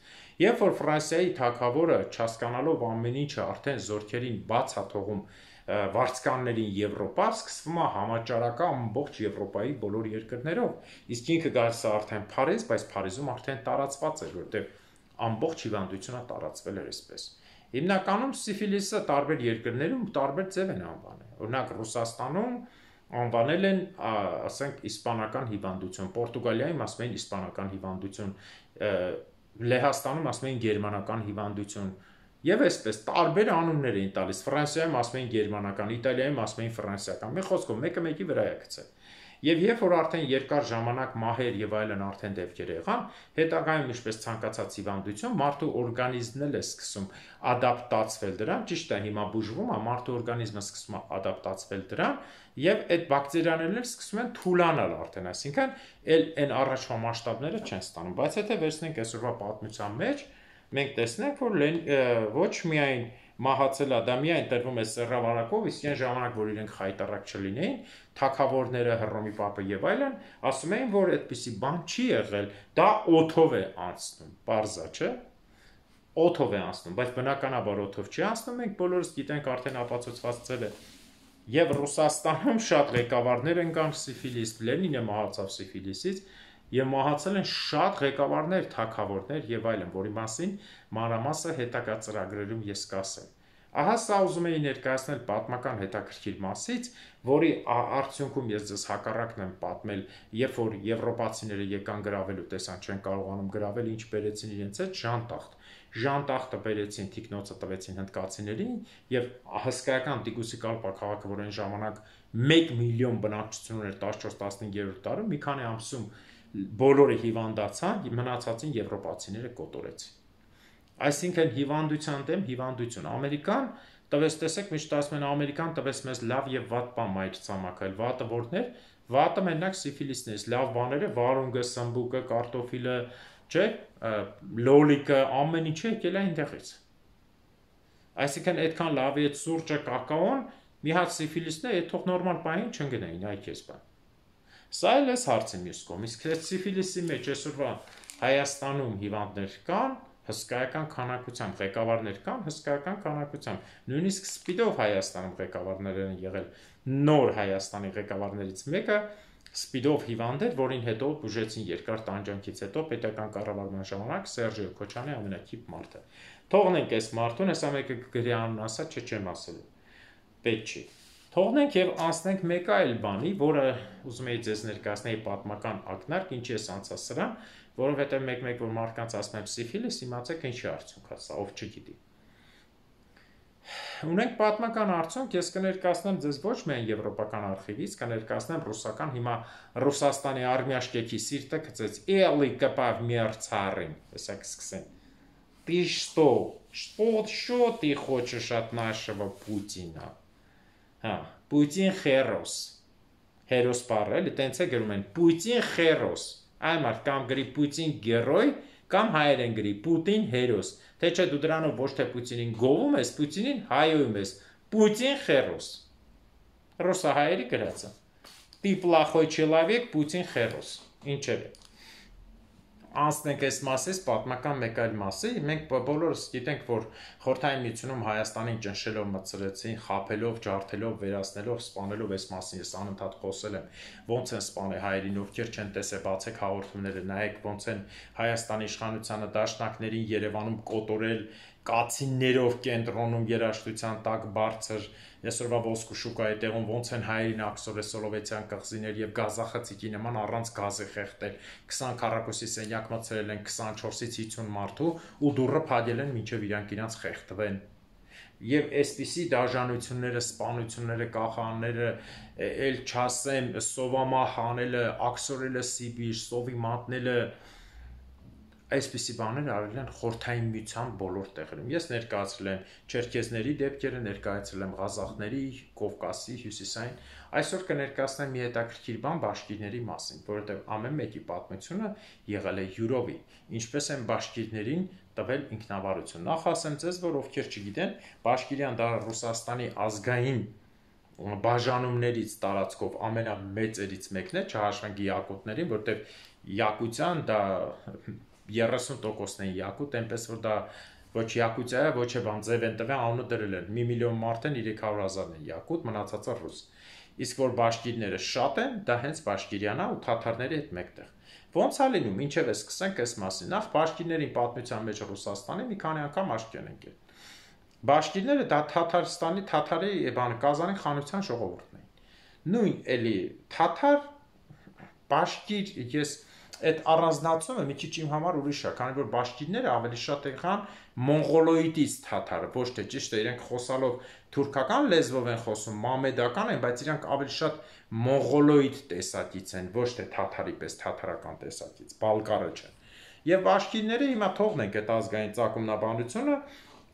Երբ որ Ֆրանսիայի թագավորը չհասկանալով ամեն ինչը արդեն զորքերին բաց է թողում վարձկաններին Եվրոպա, սկսվում է համաճարակը ամբողջ Եվրոպայի բոլոր երկրներով, իսկ ինքը գալիս է արդեն Փարիզ, բայց Փարիզում արդեն տարածված էր, որտեղ ամբողջ հիվանդությունը տարածվել էր այսպես։ Հիմնականում սիֆիլիսը տարբեր երկրներում տարբեր ձև են անվանել։ Օրինակ Ռուսաստանում անվանել են, ասենք, իսպանական հիվանդություն, Պորտուգալիայում ասում են իսպանական հիվանդություն, Լեհաստանում ասում են գերմանական հիվանդություն, եւ այսպես տարբեր անուններ էին տալիս, Ֆրանսիայում ասում են գերմանական, Իտալիայում ասում են ֆրանսիական, մի խոսքով մեկը մեկի վրա է գցել։ Եվ երբ որ արդեն երկար ժամանակ մահեր եւ այլն արդեն դեպքեր եղան, հետագայում ինչպես ցանկացած հիվանդություն, մարդու օրգանիզմն էլ է սկսում ադապտացվել դրան, ճիշտ է, հիմա բուժվում է, մարդու օրգանիզմը սկսում է ադապտացվել դրան, եւ այդ բակտերիաներն էլ սկսում են թուլանալ արդեն, այսինքն այն առաջվա մասշտաբները չեն ստանում, բայց եթե վերցնենք այսօրվա պատմության մեջ, մենք տեսնենք, որ ոչ միայն մահացել է, դա միայն տրվում է սեռավարակով, իսկ այն ժամանակ, որ իրենք խայտարակ չլինեին, թագավորները, Հռոմի պապը եւ այլն, ասում էին, որ այդպիսի բան չի եղել, դա օդով է անցնում, պարզա, չէ՞։ Օդով է անցնում, բայց բնականաբար օդով չի անցնում, մենք բոլորս գիտենք արդեն ապացուցված ձև է։ Եվ Ռուսաստանում շատ ղեկավարներ են կան սիֆիլիս, Լենինը մահացավ սիֆիլիսից, եւ մահացել են շատ ղեկավարներ, թագավորներ եւ այլն, որի մասին մանրամասը հետագա ծրագրերում ես կասեմ։ Ահա սա ուզում էի ներկայացնել պատմական հետաքրքիր մասից, որի արդյունքում ես ձեզ հակառակն եմ պատմել, երբ որ եվրոպացիները եկան գրավելու, տեսան չեն կարողանում գրավել, ինչ բերեցին իրենց հետ Ժանտախտ։ Ժանտախտը բերեցին, թիկնոցը տվեցին հնդկացիներին եւ հսկայական Տիկուսի Կալպա քաղաքը, որ այն ժամանակ 1 միլիոն բնակչություն ուներ 14-15-րդ դարում, մի քանի ամսում բոլորը հիվանդացան, մնացածին եվրոպացիները կոտորեցին։ Այսինքն հիվանդության դեմ հիվանդություն։ Ամերիկան տվեց, տեսեք, միշտ ասում են Ամերիկան տվեց մեզ լավ եւ վատ բան մայր ցամաքել, վատը որներ, վատը մենակ սիֆիլիսն է, լավ բաները վարունգը, սմբուկը, կարտոֆիլը, չէ, լոլիկը, ամեն ինչը եկել է այնտեղից։ Այսինքն այդքան լավ է սուրճը, կակաոն, մի հատ սիֆիլիսն է, այդ թող նորմալ բանին չընկնեին, այ քեզ բան։ Սա էլ էս հարցի մյուս կողմ, իսկ սիֆիլիսի մեջ այսօրվա Հայաստանում հիվանդներ կան, հսկայական քանակությամբ ղեկավարներ կան, հսկայական քանակությամբ, նույնիսկ սպիդով Հայաստանում ղեկավարներ են եղել, նոր Հայաստանի ղեկավարներից մեկը սպիդով հիվանդ էր, որին հետո բուժեցին երկար տանջանքից հետո պետական կառավարման ժամանակ Սերժիո Քոչյանի ամենակիպ մարդը։ Թողնենք այս մարդուն, հեսա մեկը գրի անուն ասա, չեմ ասելու, պետք չի։ Թողնենք եւ անցնենք մեկ այլ բանի, որը ուզում էի ձեզ ներկայացնել պատմական ակնարկ, ինչի է անցած սրան, որովհետեւ մեկ-մեկ որ մարդկանց ասում եմ սիֆիլիս, իմացեք ինչի արդյունք է սա, ով չգիտի։ Ունենք պատմական արդյունք, ես կներկայացնեմ ձեզ ոչ միայն եվրոպական արխիվից, կներկայացնեմ ռուսական, հիմա Ռուսաստանի արմիաշկեքի սիրտը գծեց էլի կպավ մերցարին, հեսա կսկսեն։ Ты что ты хочешь от нашего Путина? Հա, Պուտին խերոս, հերոս բառը, էլի տենց է գրում են, Պուտին խերոս, այ մարդ կամ գրի Պուտին գերոյ, Կամ հայերեն գրի Պուտին հերոս, թե չէ դու դրանով ոչ թե Պուտինին գովում ես, Պուտինին հայոյում ես, Պուտին խերոս, ռուսահայերի գրածը, Ты плохой человек, Պուտին խերոս, ինչև է, անցնենք այս մասից պատմական մեկ այլ մասի, մենք բոլորս գիտենք, որ Խորհրդային Միությունում Հայաստանին ճնշելով մտցրեցին, խաբելով, ջարդելով, վերացնելով, սպանելով այս մասին, ես անընդհատ խոսել եմ, ոնց են սպանել հայերին, ովքեր չեն տեսել, բացեք հաղորդումները, նայեք ոնց են Հայաստանի իշխանությանը դաշնակներին Երևանում կոտորել, կացիններով կենտրոնում երաժշտության տակ բարձր, այսօրվա ոսկու շուկայի տեղում ոնց են հայերին աքսորե Սոլովեթյան կղզիներ եւ գազախցիկի նման առանց գազի խեղդել 20 քառակուսի սենյակ մցրել են 24-ից 50 մարդու ու դուռը փակել են մինչեւ իրանք խեղդվեն եւ այսպիսի դաժանությունները, սպանությունները, կախանները, ել չասեմ, սովամահ անելը, աքսորելը Սիբիր, սովի մատնելը այսպիսի բաներ արել են Խորհրդային Միության բոլոր տեղերում։ Ես ներկայացրել եմ չերքեզների դեպքերը, ներկայացրել եմ ղազախների, Կովկասի, Հյուսիսային։ Այսօր կներկայացնեմ մի հետաքրքիր բան բաշկիրների մասին, որովհետև ամեն մեկի պատմությունը եղել է յուրովի, ինչպես են բաշկիրներին տվել ինքնավարություն։ Նախ ասեմ ձեզ, որ ովքեր չգիտեն, Բաշկիրյան դա Ռուսաստանի ազգային բաժանումներից տարածքով ամենամեծերից մեկն է, չհաշվենք Յակուտներին, որովհետև Յակուտյան դա 30%-ն են Յակուտ, այնպես որ դա ոչ Յակուտիա է, ոչ է բան ձև են տվել, անունը դրել են։ 1 միլիոն մարդ են, 300,000 են Յակուտ, մնացածը ռուս։ Իսկ որ բաշկիրները շատ են, դա հենց բաշկիրյանա ու թաթարների հետ մեկտեղ։ Ոնց է լինում, ինչև է սկսենք այս մասին։ Նախ բաշկիրների պատմության մեջ Ռուսաստանի մի քանի անգամ աչքի են ընկել։ Բաշկիրները դա Թաթարստանի թաթարի Կազանի խանության ժողովուրդն էին։ Նույն էլի թաթար բաշկիր ես այդ առանձնացումը մի քիչ իմ համար ուրիշ է, քանի որ բաշկիրները ավելի շատ եղան մոնղոլոիդից թաթարը, ոչ թե ճիշտ է, իրենք խոսալով թուրքական լեզվով են խոսում, մամեդական են, բայց իրանք ավելի շատ մոնղոլոիդ տեսակից են, ոչ թե թաթարի պես թաթարական տեսակից, բալկարը չեն։ Եվ բաշկիրները հիմա թողնենք այդ ազգային ծագումնաբանությունը,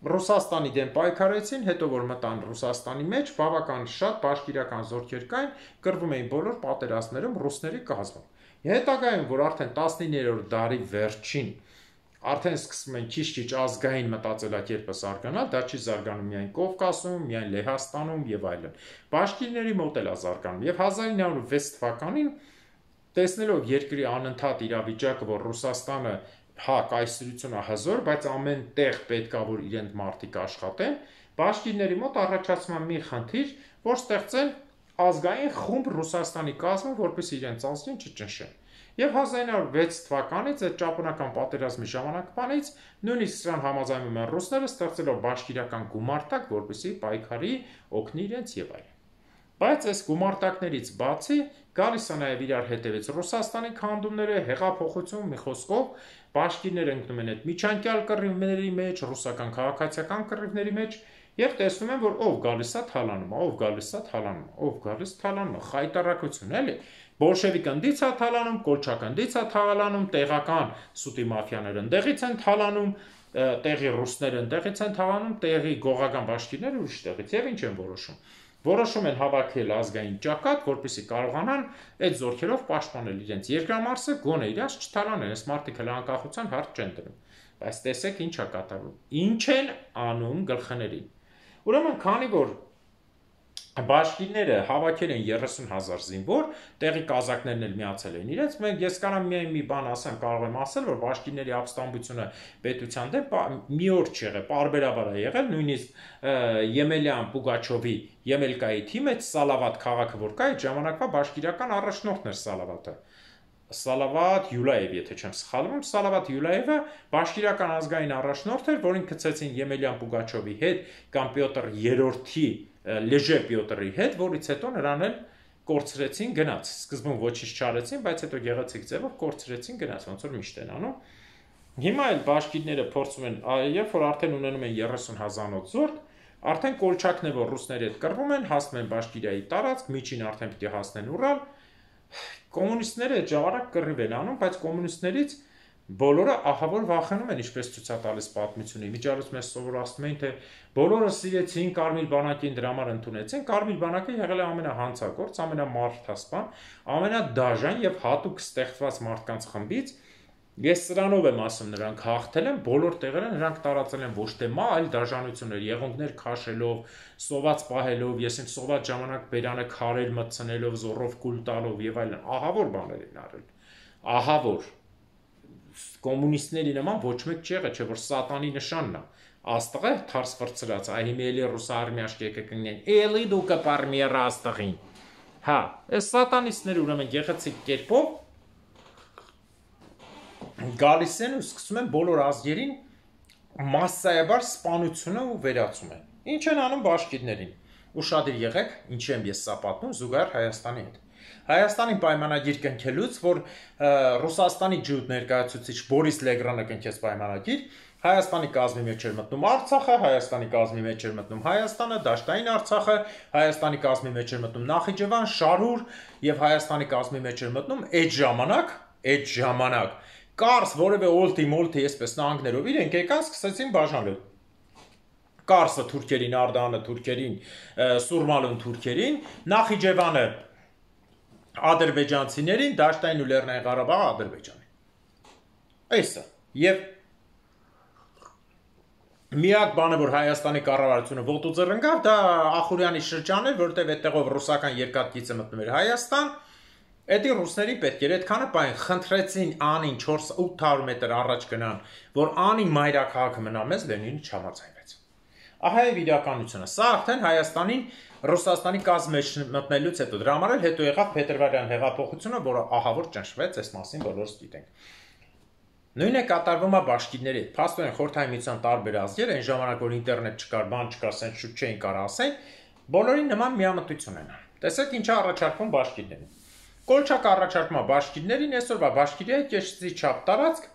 Ռուսաստանի դեմ պայքարեցին, հետո որ մտան Ռուսաստանի մեջ, բավական շատ բաշկիրական զորքեր կային, կռվում էին բոլոր պատերազմներում ռուսների կազմում։ Հետագայում, որ արդեն 19-րդ դարի վերջին արդեն սկսում են քիչ-քիչ ազգային մտածելակերպը զարգանալ, դա չի զարգանում միայն Կովկասում, միայն Լեհաստանում եւ այլն։ Բաշկիրների մոտ էլ է զարգանում եւ 1906 թվականին տեսնելով երկրի անընդհատ իրավիճակը, որ Ռուսաստանը հա կայսրությունը հզոր, բայց ամեն տեղ պետքա որ իրենք մարդիկ աշխատեն, բաշկիրների մոտ առաջացնում է մի խնդիր, որ ստեղծեն ազգային խումբ Ռուսաստանի կազմում, որպես իրենց ազգին չճնշեն։ Եվ 1906 թվականից այդ ճապոնական պատերազմի ժամանակվանից նույնիսկ սրան համաձայնում են ռուսները ստեղծելով բաշկիրական գումարտակ, որպեսզի պայքարի օգնի իրենց եւ այլն։ Բայց այս գումարտակներից բացի գալիս է նաև իրար հետևից Ռուսաստանի քանդումները, հեղափոխություն, մի խոսքով բաշկիրները ընկնում են այդ միջանկյալ կռիվների մեջ, ռուսական քաղաքացիական կռիվների մեջ եւ տեսնում են, որ ով գալիս է թալանում, ով գալիս է թալանում, ով գալիս թալանում, խայտարակություն էլի։ Բոլշևիկ ընդից է թալանում, կոլչակ ընդից է թալանում, տեղական սուտի մաֆիաները ընդեղից են թալանում, տեղի ռուսները ընդեղից են թալանում, տեղի գողական բաշկիրները ուրիշ տեղից եւ ինչ են որոշում։ Որոշում են հավաքել ազգային ճակատ, որպեսզի կարողանան այդ զորքերով պաշտպանել իրենց երկրամարսը, գոնե իրաց չթալանեն, այս մարդիկ հենց անկախության հարց չեն դնում։ Բայց տեսեք ինչ է կատարվում։ Ինչ են անում գլխներին։ Ուրեմն, քանի որ բաշկիրները հավաքել են 30,000 զինվոր, տեղի կազակներն էլ միացել էին իրենց, ես կարող միայն մի բան ասեմ, կարող եմ ասել, որ բաշկիրների ապստամբությունը պետության դեմ մի օր չեղել, պարբերաբար է եղել, նույնիսկ Եմելյան Պուգաչովի Եմելկայի թիմից Սալավատ քաղաքը որ կա, այդ ժամանակվա բաշկիրական առաջնորդն էր Սալավատը։ Սալավատ Յուլաև, եթե չեմ սխալվում, Սալավատ Յուլաևը բաշկիրական ազգային առաջնորդ էր, որին գցեցին Եմելյան Պուգաչովի հետ կամ Պյոտր 3-րդի Լեժե Պյոտրի հետ, որից հետո նրան էլ կորցրեցին գնաց։ Սկզբում ոչինչ չարեցին, բայց հետո գեղեցիկ ձևով կորցրեցին գնաց, ոնց որ միշտ են անում։ Հիմա էլ բաշկիրները փորձում են, երբ որ արդեն ունենում են 30,000-ով զորք, արդեն կոլչակն է, որ ռուսների հետ կռվում են, հասնում են Բաշկիրիայի տարածք, միջին արդեն պիտի հասնեն Ուրալ։ Կոմունիստները այդ ժամանակ կռիվ են անում, բայց կոմունիստներից բոլորը ահավոր վախենում են, ինչպես ցույց է տալիս պատմությունը։ Միջարից մեզ սովորացնում էին, թե բոլորը սիրեցին Կարմիր բանակին, դրա համար ընդունեցին։ Կարմիր բանակը եղել է ամենահանցագործ, ամենամարդասպան, ամենադաժան եւ հատուկ ստեղծված մարդկանց խմբից, Ես սրանով եմ ասում, նրանք հաղթել են, բոլոր տեղերը նրանք տարածել են ոչ թե մա, այլ դաշնություններ, եղունգներ քաշելով, սոված պահելով, ես իմ սոված ժամանակ բերանը քարեր մտցնելով, զոռով կուլ տալով եւ այլն, ահավոր բաներ են արել։ Ահավոր կոմունիստների նման ոչ մեկ չի եղել, չէ՞ որ սատանի նշանն է։ Աստղը թարս վրցրած, այ հիմա էլի ռուս արմիաշ կեկնեն։ Էլի դու կպարմիեր աստղին։ Հա, այս սատանիստները ուրեմն գեղեցիկ կերպով գալիս են ու սկսում են բոլոր ազգերին մասսայաբար սպանությունը ու վերացում են։ Ինչ են անում բաշկիրներին։ Ուշադիր եղեք, ինչի եմ ես սա պատմում զուգահեռ Հայաստանի հետ։ Հայաստանի պայմանագիր կնքելուց, որ Ռուսաստանի ջութ ներկայացուցիչ Բորիս Լեգրանը կնքեց պայմանագիր, Հայաստանի կազմի մեջ էր մտնում Արցախը, Հայաստանի կազմի մեջ էր մտնում Հայաստանը, Դաշտային Արցախը, Հայաստանի կազմի մեջ էր մտնում Նախիջևան, Շարուր եւ Հայաստանի կազմի մեջ էր մտնում այդ ժամանակ Կարս որևէ օլտի մոլտի այսպես նահանգներով իրենք եկան սկսեցին բաժանել։ Կարսը թուրքերին, Արդանը թուրքերին, Սուրմալուն թուրքերին, Նախիջևանը ադրբեջանցիներին, Դաշտային ու Լեռնային Ղարաբաղը Ադրբեջանին։ Այսը։ Եվ միակ բանը, որ Հայաստանի կառավարությունը ոտուձեռ ընկավ, դա Ախուրյանի շրջանն էր, որտեղ այդտեղով ռուսական երկաթգիծը մտնում էր Հայաստան։ Էդի ռուսների պետք էր այդքանը պայն խնդրեցին Անին 400-800 մետր առաջ գնան, որ Անի մայրաքաղաքը մնա մեզ, Լենինը չհամաձայնվեց։ Ահա է իրականությունը։ Սա արդեն Հայաստանին Ռուսաստանի կազմի մեջ մտնելուց հետո դրա համար էլ հետո եղավ Փետրվարյան հեղափոխությունը, որը ահավոր ճնշվեց, այս մասին բոլորս գիտենք։ Նույնը կատարվում է բաշկիրների հետ։ Փաստորեն Խորհրդային Միության տարբեր ազգեր այն ժամանակ որ ինտերնետ չկար, բան չկար, ասեն շուտ չէին կարող ասեն, բոլորին նման միամտություն են։ Տեսեք ինչա առաջարկվում բաշկիրներին։ Կոլչակ առաջարկում է բաշկիրներին, այսօրվա բաշկիրիայի կեշտի չափ տարածք,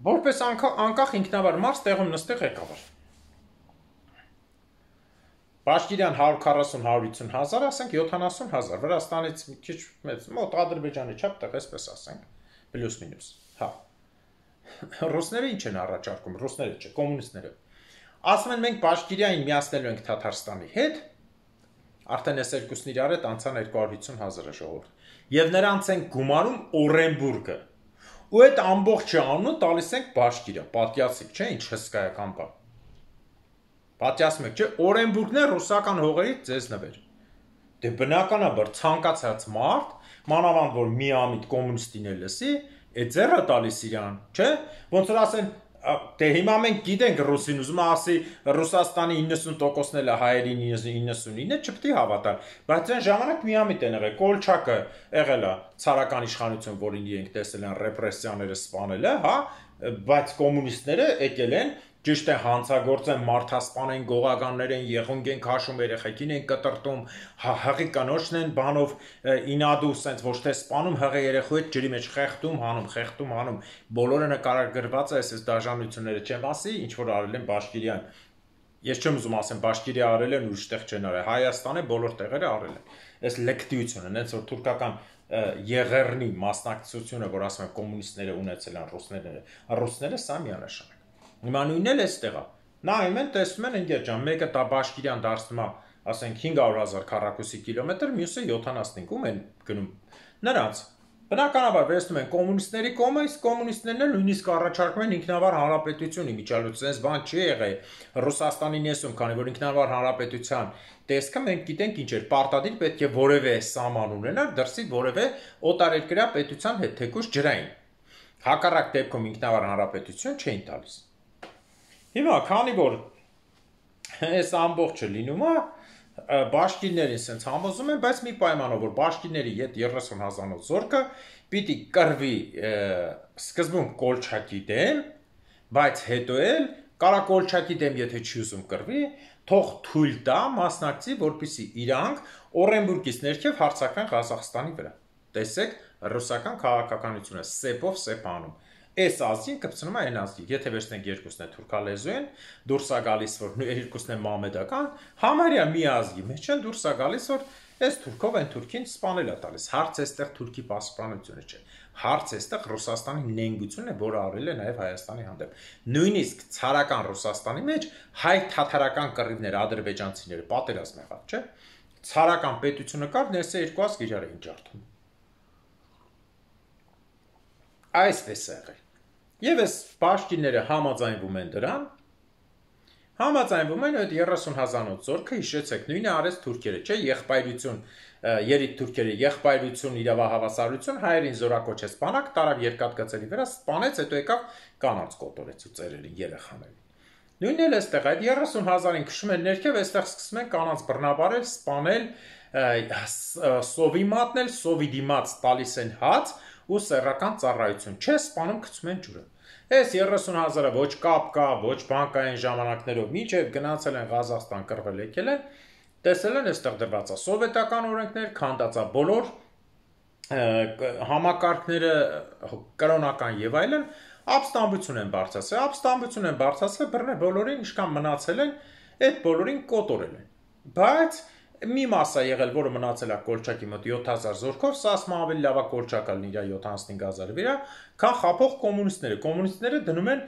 որպես անկախ ինքնավար մարդ տեղում նստի ղեկավար։ Բաշկիրյան 140-150 հազար, ասենք 70 հազար, Վրաստանից մի քիչ մեծ, մոտ Ադրբեջանի չափ տեղ, այսպես ասենք, պլյուս մինուս, հա։ Ռուսները ինչ են առաջարկում, ռուսները չէ, կոմունիստները։ Ասում են մենք բաշկիրիային միացնելու ենք Թաթարստանի հետ, արդեն այս երկուսն իրար հետ անցան 250 հազարը ժողովուրդ։ Եվ նրանց են գումարում Օրենբուրգը։ Ու այդ ամբողջը անունը տալիս ենք բաշկիրիա, պատյասիկ, չէ, ինչ հսկայական բան։ Պատյասում եք, չէ, Օրենբուրգն է ռուսական հողերից ձեզ նվեր։ Դե բնականաբար ցանկացած մարդ, մանավանդ որ միամիտ կոմունիստին է լսի, է ձեռը տալիս իրան, չէ։ Ոնց որ ասեն, դե հիմա մենք գիտենք ռուսին, ուզում ասի Ռուսաստանի 90%-ն էլ է հայերին 99-ը չպետք է հավատալ, բայց այն ժամանակ միամիտ են եղել, Կոլչակը եղել է ցարական իշխանություն, որին իրենք տեսել են ռեպրեսիաները սպանել է, հա, բայց կոմունիստները եկել են ճիշտ է հանցագործեն, մարդասպան են, գողականներ են, եղունգ են քաշում, երեխեքին են կտրտում, հղի կնոջն են բանով ինադու սենց ոչ թե սպանում, հղի երեխու հետ ջրի մեջ խեղդում, հանում, բոլորը նկարագրված է այս դաժանությունները չեմ ասի, ինչ որ արել են Բաշկիրյան։ Ես չեմ ուզում ասեմ Բաշկիրիա արել են ուրիշ տեղ չեն արել, Հայաստանը բոլոր տեղերը արել են։ Այս լեկտիությունը, հենց որ թուրքական Եղեռնի մասնակցությունը, որ ասում են կոմունիստները ունեցել են ռուսները սա միանշանակ։ Հիմա նույնն էլ էստեղ է։ Նայում են, տեսնում են ընկեր ջան, մեկը տա Բաշկիրյան դարձնում է, ասենք 500,000 քառակուսի կիլոմետր, մյուսը 75-ում են գնում։ Նրանց բնականաբար վերցնում են կոմունիստների կողմը, իսկ կոմունիստներն էլ նույնիսկ առաջարկում են ինքնավար հանրապետություն իմիջալուց, այս բան չի եղել Ռուսաստանի նեսում, քանի որ ինքնավար հանրապետության տեսքը մենք գիտենք ինչ էր, պարտադիր պետք է որևէ սահման ունենար դրսի որևէ օտարերկրյա պետության հետ, թեկուզ ջրային։ Հակառակ դեպքում ինքնավար հանրապետություն չէին տալիս։ Հիմա քանի որ այս ամբողջը լինում է, բաշկիրներին սենց համոզում են, բայց մի պայմանով, որ բաշկիրների հետ 30,000 զորքը պիտի կռվի սկզբում Կոլչակի դեմ, բայց հետո էլ կարա Կոլչակի դեմ եթե չի ուզում կռվի, թող թույլ տա մասնակցի, որպեսզի իրանք Օրենբուրգից ներքև հարձակվեն Ղազախստանի վրա։ Տեսեք ռուսական քաղաքականությունը սեպով սեպ անում։ Այս ազգին կպցնում է այն ազգի, եթե վերցնենք երկուսն է թուրքալեզու են, դուրս է գալիս, որ երկուսն է մամեդական, համարյա մի ազգի մեջ են դուրս է գալիս, որ այս թուրքով այն թուրքին սպանել է տալիս։ Հարց էստեղ թուրքի պաշտպանությունը չէ։ Հարց էստեղ Ռուսաստանի նենգությունն է, որը արել է նաև Հայաստանի հանդեպ։ Նույնիսկ ցարական Ռուսաստանի մեջ հայ-թաթարական կռիվներ ադրբեջանցիները պատերազմ եղավ, չէ։ Ցարական պետությունը կար, ներսը երկու ազգ իրար էին ջարդում։ այսպես է եղել։ Եվ այս բաշկիները համաձայնվում են դրան, համաձայնվում են այդ 30,000-ով զորքը, հիշեցեք, նույնը արեց թուրքերը, չէ, եղբայրություն, երիտ թուրքերը եղբայրություն, իրավահավասարություն, հայերին զորակոչեց բանակ, տարավ երկաթգծերի վրա, սպանեց, հետո եկավ կանանց կոտորեց ու ծերերին, երեխաներին։ Նույնն էլ այստեղ այդ 30,000-ին քշում են ներքև, այստեղ սկսում են կանանց բռնաբարել, սպանել, սովի մատնել, սովի դիմաց տալիս են հաց ու սեռական ծառայություն, չէ, սպանում գցում են ջուրը։ Այս 30,000-ը ոչ կապ կա, ոչ բանկային ժամանակներով, մինչև գնացել են Ղազախստան կռվել եկել են, տեսել են այստեղ դրված է սովետական օրենքներ, քանդած է բոլոր համակարգները կրոնական եւ այլն, ապստամբություն են բարձրացրել, բռնել բոլորին, ինչքան մնացել են, այդ բոլորին կոտորել են։ Բայց մի մաս է եղել, որը մնացել է Կոլչակի մոտ 7000 զորքով, սա ասում ավելի լավ է Կոլչակը լինի իր 75,000-ի վրա, քան խափող կոմունիստները։ Կոմունիստները դնում են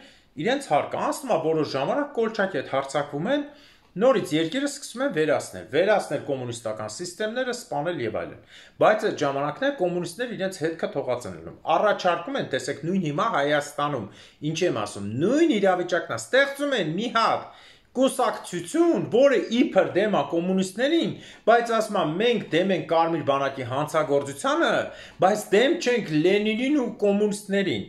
իրենց հարկը, անցնում է որոշ ժամանակ Կոլչակի հետ հարձակվում են, նորից երկիրը սկսում են վերացնել կոմունիստական սիստեմները, սպանել եւ այլն։ Բայց այդ ժամանակներ կոմունիստները իրենց հետքը թողած են ելնում։ Առաջարկում են, տեսեք, նույն հիմա Հայաստանում, ինչ եմ ասում, նույն իրավիճակն է, ստեղծում են մի հատ կուսակցություն, որը իբր դեմ է կոմունիստներին, բայց ասում է մենք դեմ ենք Կարմիր բանակի հանցագործությանը, բայց դեմ չենք Լենինին ու կոմունիստներին։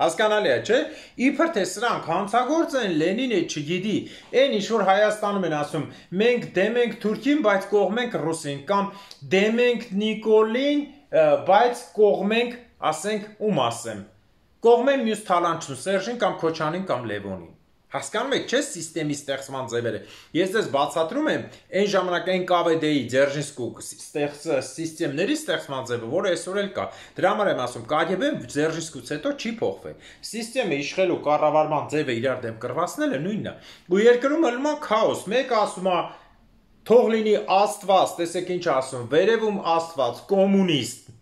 Հասկանալի է, չէ՞։ Իբր թե սրանք հանցագործ են, Լենինը չգիտի, այն ինչ որ Հայաստանում են ասում, մենք դեմ ենք Թուրքին, բայց կողմենք ռուսին, կամ դեմ ենք Նիկոլին, բայց կողմենք, ասենք, ում ասեմ, կողմեն մյուս թալանչուն, Սերժին կամ Քոչանին կամ Լևոնին։ Հասկանում եք, չէ՞ սիստեմի ստեղծման ձևերը։ Ես դες բացատրում եմ այն ժամանակային ԿՎԴ-ի, Ձերժինսկու սիստեմների ստեղծման ձևը, որը այսօր էլ կա։ Դրա համար եմ ասում, ԿԳԲ-ն Ձերժինսկուց հետո չի փոխվել։ Սիստեմը իշխելու կառավարման ձևը իրար դեմ կռվածնելը նույնն է։ Ու երկրում ելնում է քաոս։ Մեկը ասում է թող լինի Աստված, տեսեք ինչ ասում, վերևում Աստված, կոմունիստ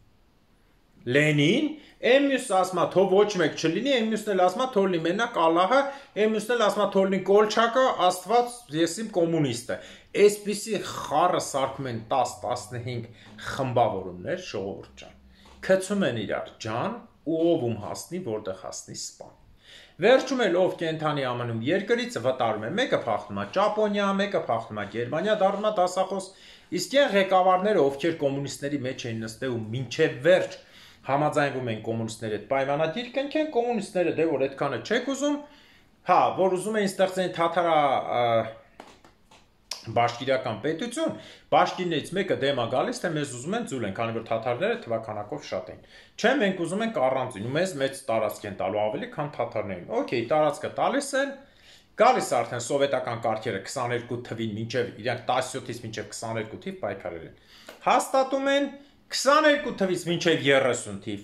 Լենին, այն մյուսը ասում է թող ոչ մեկ չլինի, այն մյուսն էլ ասում է թող լինի մենակ Ալլահը, այն մյուսն էլ ասում է թող լինի Կոլչակը, Աստված, ես իմ կոմունիստը։ Այսպիսի խառը սարքում են 10-15 խմբավորումներ, ժողովուրդ ջան։ Քցում են իրար ջան, ու ով ում հասնի, որտեղ հասնի սպան։ Վերջում էլ ով կենթանի ամնում երկրից վտարում է, մեկը փախնում է Ճապոնիա, մեկը փախնում է Գերմանիա, դառնում է դասախոս, իսկ այն ղեկավարները, ովքեր կոմունիստների մեջ էին նստել ու մինչև վերջ համաձայնվում են կոմունիստների հետ պայմանագիր կնքեն, կոմունիստները դե որ այդքանը չեք ուզում, հա, որ ուզում էին ստեղծեն թաթարա բաշկիրական պետություն, բաշկիրներից մեկը դեմ է գալիս, թե մեզ ուզում են ձուլեն, քանի որ թաթարները թվականակով շատ են։ Չէ, մենք ուզում ենք առանձին, ու մեզ մեծ տարածք են տալու ավելի, քան թաթարներին։ Okay, տարածքը տալիս են, գալիս արդեն սովետական կարգերը 22 թվին մինչև իրանք 17-ից մինչև 22 թիվ պայքարել են։ Հաստատում են 22 թվից մինչև 30 թիվ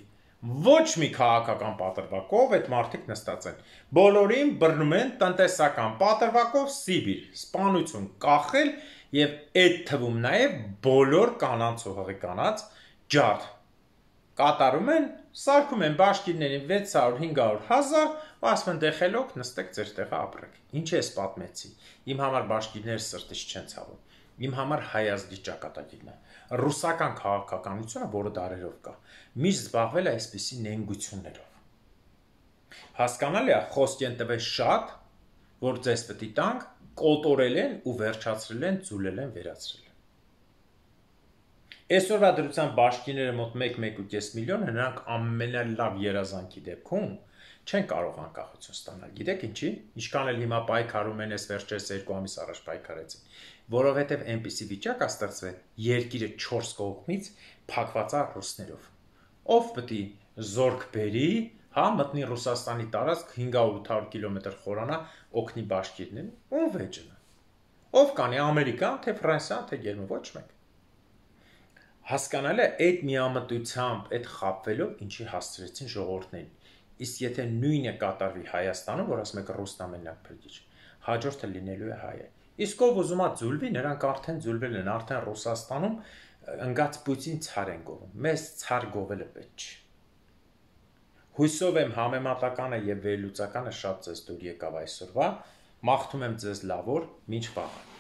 ոչ մի քաղաքական պատրվակով այդ մարդիկ նստած են։ Բոլորին բռնում են տնտեսական պատրվակով Սիբիր, սպանություն կախել եւ այդ թվում նաեւ բոլոր կանանց ու հղի կանանց ջարդ կատարում են, սարքում են բաշկիրներին 600-500 հազար, ու ասում են դեխելոք նստեք ձեր տեղը ապրեք։ Ինչ ես պատմեցի։ Իմ համար բաշկիրները սրտից չեն ցավում։ Իմ համար հայազգի ճակատագիրն է։ Ռուսական քաղաքականությունը, որը դարերով կա, միշտ զբաղվել է այսպիսի նենգություններով։ Հասկանալի է, խոսք են տվել շատ, որ ձեզ պետք է տանք, կոտորել են ու վերջացրել են, ձուլել են, վերացրել են։ Այսօրվա դրությամբ բաշկիրները մոտ 1-1.5 միլիոն, նրանք ամենալավ երազանքի դեպքում չեն կարող անկախություն ստանալ։ Գիտեք ինչի։ Ինչքան էլ հիմա պայքարում են, այս վերջերս 2 ամիս առաջ պայքարեցին, որովհետև այնպիսի վիճակ է ստեղծվել, երկիրը 4 կողմից փակված է ռուսներով։ Ով պետք է զորք բերի, հա, մտնի Ռուսաստանի տարածք 500-800 կիլոմետր խորանա, օգնի բաշկիրներին, ում վեճն է։ Ով կանի Ամերիկան, թե Ֆրանսիան, թե Գերմանիան, ոչ մեկ։ Հասկանալի է, այդ միամտությամբ, այդ խաբվելով ինչի հասցրեցին ժողովուրդներին։ Իսկ եթե նույնը կատարվի Հայաստանում, որ ասում եք ռուսն ամենակ փրկիչ, հաջորդը լինելու է հայը։ Իսկ ով ուզում է ձուլվի, նրանք արդեն ձուլվել են, արդեն Ռուսաստանում ընկած բույցին ցար են գովում։ Մեզ ցար գովելը պետք չի։ Հույսով եմ համեմատականը եւ վերլուծականը շատ ձեզ դուր եկավ այսօրվա։ Մաղթում եմ ձեզ լավ օր, մինչ վաղ։